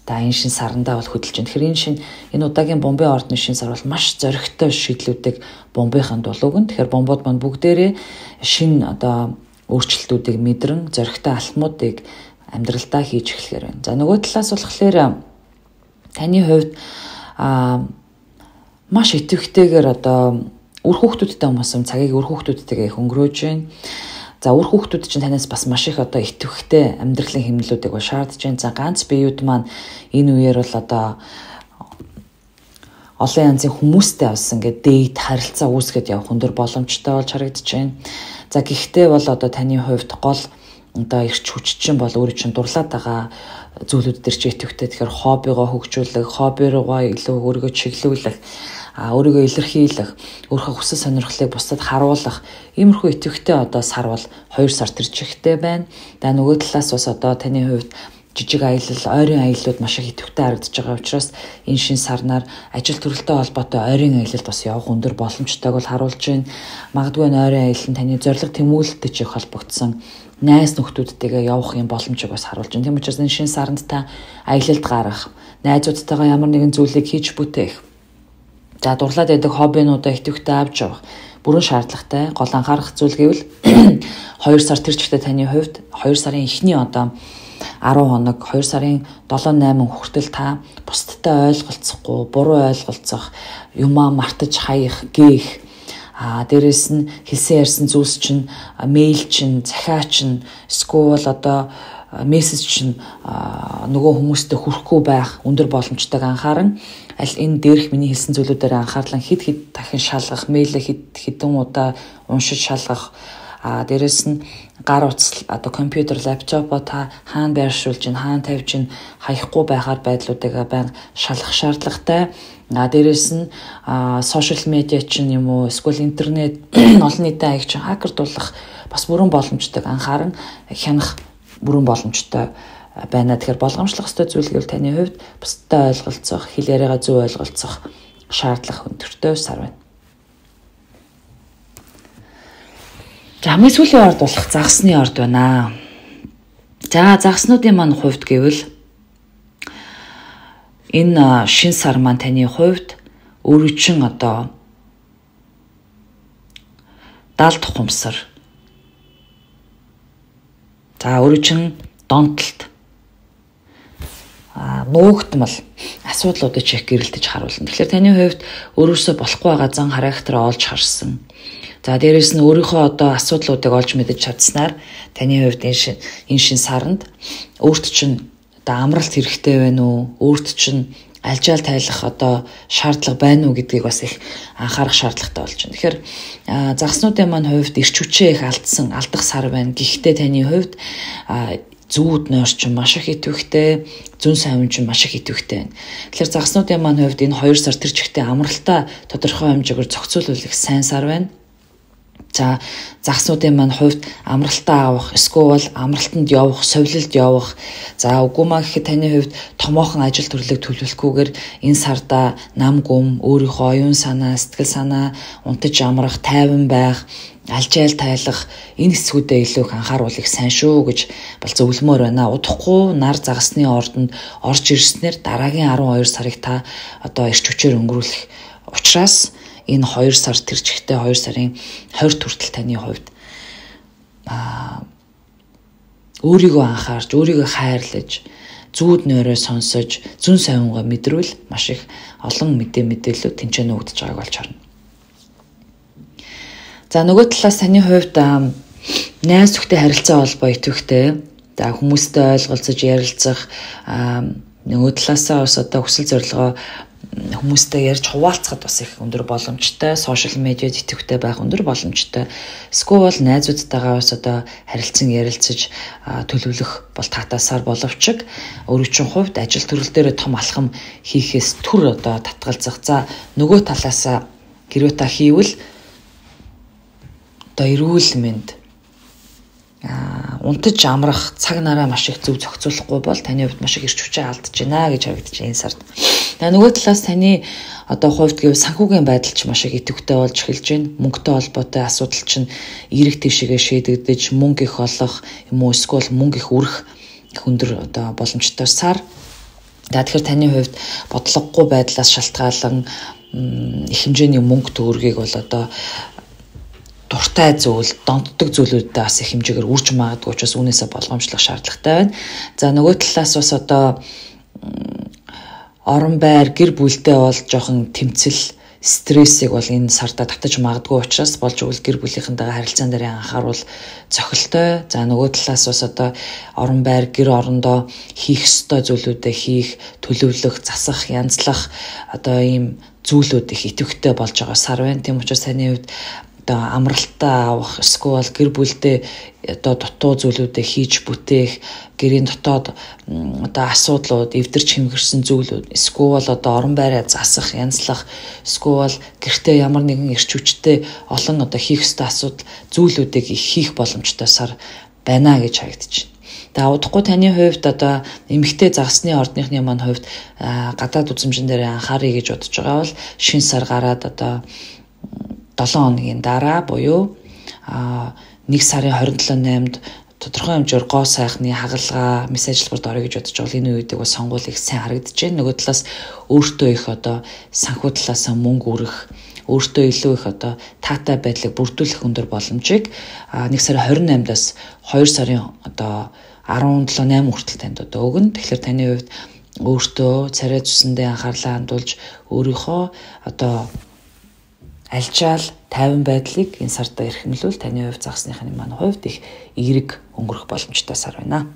та энэ шин сарандаа бол хөдөлж байна. Тэгэхээр энэ шин энэ удаагийн Бомбей ордны шин сар бол маш зоригтой шийдлүүдийг Бомбейханд бол өгнө. Тэгэхээр Бомбууд маань бүгдээрээ шин одоо өөрчлөлтүүдийг мэдрэн зоригтой алхмуудыг амьдралдаа хийж эхлэхээр байна. За нөгөө талаас болохоор таны хувьд а маш идэвхтэйгээр одоо үр хүүхдүүдтэй хүмүүс цагийг үр хүүхдүүдтэйгээ их өнгөрөөж байна. За үр хүүхдүүд чинь танаас бас маш их одоо идэвхтэй амьдралын хэмнэлүүдийг бол шаардж байна. За ганц биеуд маань энэ үеэр бол одоо олон янзын хүмүүстэй бас ингээд дээд харилцаа үүсгэж явах өндөр боломжтой болж харагдаж байна. За гэхдээ бол одоо таны хувьд гол одоо ирч хүч чинь бол өөрөө чинь дурлаад байгаа зүйлүүд төр ч идэвхтэй тэгэхээр хоббигоо хөгжүүлэх, хобби руугаа илүү өөрийгөө чиглүүлэх, а өөрийгөө илэрхийлэх, өөрийнхөө хүсэл сонирхлыг бусдад харуулах иймэрхүү идэвхтэй одоо сар бол хоёр сар тэр чигтэй байна. За нөгөө талаас бас одоо таны хувьд жижиг аялал, ойрын аяллууд маш их идэвхтэй харагдаж байгаа учраас энэ шин сарнаар ажил төрөлтэй холбоотой ойрын аялалд бас явах өндөр боломжтойг бол харуулж байна. Магадгүй ойрын аялал нь таны зорилго тэмүүлэлтэй ч их холбогдсон найз нөхдүүдтэйгээ явах юм боломжийг бас харуулж байна. Тийм учраас энэ шин сарнд та аялалд гарах, найзуудтайгаа ямар нэгэн зүйлийг хийж бүтээх, за дурлаад байдаг хоббинуудаа идэвхтэй авч явах бүрэн шаардлагатай. Гол анхаарах зүйл гэвэл хоёр сар тэр чигтээ таны хувьд хоёр сарын эхний одоо арван хоног, хоёр сарын долоо найман хүртэл та бусдтай ойлголцохгүй, буруу ойлголцох, юмаа мартаж хаях, гээх, а дээрэс нь хэлсэн ярьсан зүйлс чинь мэйл чинь, захиа чинь, эсвэл одоо мессеж чинь нөгөө хүмүүстэй хүрэхгүй байх өндөр боломжтойг анхааран аль энэ дээрх миний хэлсэн зүйлүүдээр анхаарлан хид хид дахин шалгах, мэйлээ хид хідэн удаа уншиж шалгах, а дээрэс нь гар утас одоо компьютер, лаптопоо та хаана байршуулж ин, хаана тавьж ин хаяхгүй байхаар байдлуудыг байнга шалгах шаардлагатай. А дээрэс нь сошиал медиа чинь юм уу, эсвэл интернет олон нийтийн аяг чинь хакердуулах бас бүрэн боломжтойг анхааран хянах бүрэн боломжтой байна. Тэгэхээр болгоомжлох ёстой зүйл гэвэл таны хувьд бусдад ойлголцох, хэл яриагаа зөв ойлголцох шаардлага өндөртэй сар байна. За хамгийн сүүлийн орд болох загсны орд байна. За загснуудын маань хувьд гэвэл энэ шин сар маань таны хувьд өөрөө чин одоо даалт тухамсар, за өөрөө чин донтолт, а нуугдмал асуудлуудыг чих гэрэлтэж харуулна. Тэгэхээр таны хувьд өөрөөсөө болохгүй байгаа зан характераа олж харсан. За дээрэс нь өөрийнхөө одоо асуудлуудыг олж мэдэж чадсанаар таны хувьд энэ шин энэ шин саранд өөрт чинь одоо амралт хэрэгтэй байна уу? Өөрт чинь альжаал тайлах одоо шаардлага байна уу гэдгийг бас их анхаарах шаардлагатай болж байна. Тэгэхээр загснуудын маань хувьд ирч хүчээ их алдсан, алдах сар байна. Гэхдээ таны хувьд зүүд нойр чинь маш их идэвхтэй, зүүн сайван чинь маш их идэвхтэй байна. Тэгэхээр загснуудын маань хувьд энэ хоёр сар тэр чигтээ амралтаа тодорхой хэмжээгээр зохицуулах сайн сар байна. За загснуудын маань хувьд амралтаа авах, эсвэл амралтанд явах, совилалд явах. За үгүй маа гэхэд таны хувьд томоохон ажил төрлийг төлөвлөхгүйгээр энэ сарда нам гүм, өөрийнхөө оюун санаа, сэтгэл санаа унтаж амрах, тайван байх, алжаал тайлах энэ хэсгүүдэд илүү их анхааруулах сайн шүү гэж бол зөвлөмөр байна. Удахгүй нар загсны ордонд орж ирснээр дараагийн арван хоёр сарыг та одоо ирч хүчээр өнгөрүүлэх учраас энэ хоёр сар тэр чигтээ хоёр сарын хорь хүртэл таны хувьд аа өөрийгөө анхаарч, өөрийгөө хайрлаж, зүүд нойроо сонсож, зүн сайвангаа мэдрвэл маш их олон мэдээ мэдээлэл тэнцэнэ өгдөж байгааг болж харна. За нөгөө талаас таны хувьд найз нөхдөд харилцаа холбоо идэвхтэй, за хүмүүстэй ойлголцож ярилцах, нөгөө талаасаа бас одоо хүсэл зорилгоо хүмүүстэй ярьж хуваалцахад бас их өндөр боломжтой, сошиал медиад идэвхтэй байх өндөр боломжтой. Эсвэл найзуудтайгаа бас одоо харилцан ярилцаж төлөвлөх бол татаасаар боловч өөрийн хувьд ажил төрөл дээр том алхам хийхээс түр одоо татгалзах. За нөгөө талаасаа хэрвээ та хийвэл одоо эрүүл мэнд, а унтаж амрах цаг нараа маш их зөв зохицуулахгүй бол таны хувьд маш их ирч хүчээ алдаж байна гэж харагдаж байна энэ сард. Тэгээ нөгөө талаас таны одоо хувьд гэв санхүүгийн байдал ч маш их идэвхтэй болж эхэлж байна. Мөнгөтэй холбоотой асуудал чинь эерэг тийшээгээ шийдэгдэж мөнгө их олох юм уу, эсвэл мөнгө их үрэх өндөр одоо боломжтой сар. Тэгэхээр таны хувьд бодлогогүй байдлаас шалтгаалan их хэмжээний мөнгө төгрөгийг бол одоо дуртай зүйл, донтдог зүйлүүдэд бас их хэмжээгээр үрж магадгүй учраас үүнээсээ болгоомжлох шаардлагатай байна. За нөгөө талаас бас одоо орон байр, гэр бүлдээ бол жоохон тэмцэл, стрессийг бол энэ сарда татаж магадгүй учраас болж өгөл гэр бүлийнхэнтэйгээ харилцаан дээр анхааруул цохилтой. За нөгөө талаас бас одоо орон байр, гэр орондоо хийх ёстой зүйлүүдээ хийх, төлөвлөх, засах, янзлах одоо ийм зүйлүүд их идэвхтэй болж байгаа сар байна. Тийм учраас таны хувьд одоо амралтаа авах, эсвэл гэр бүлдээ одоо дутуу зүйлүүдээ хийж бүтээх, гэрийн дотоод одоо асуудлууд, эвдэрч хэмгэрсэн зүйлүүд, эсвэл одоо орон байраа засах, янзлах, эсвэл гэртээ ямар нэгэн эрч хүчтэй олон одоо хийх ёстой асуудал зүйлүүдийг их хийх боломжтой сар байна гэж харагдаж байна. Тэгээ удахгүй таны хувьд одоо эмэгтэй загсны ордныхны маань хувьд гадаад үзмжин дээр анхаарай гэж бодож байгаа бол шинэ сар гараад одоо долоон хоногийн дараа буюу нэг сарын хорин долоо наймд тодорхой хэмжээр гоо сайхны хагалгаа мис ажилбарт орё гэж бодож байгаа. Энэ үеийг бас сонгуул их сайн харагдаж байна. Нөгөө талаас өөртөө их одоо санхүү талаас мөнгө өрөх, өөртөө илүү их одоо таатай байдлыг бүрдүүлэх өндөр боломжийг нэг сарын хорин наймдаас хоёр сарын одоо арван долоо найман хүртэл танд одоо өгнө. Тэгэхээр таны хувьд өөртөө царай зүсэндээ анхаарлаа хандуулж өөрийнхөө одоо альчаал тайван байдлыг энэ сарда эрхэмлүүл таны хувьд загсныхны маань хувьд их эерэг өнгөрөх боломжтой сар байна.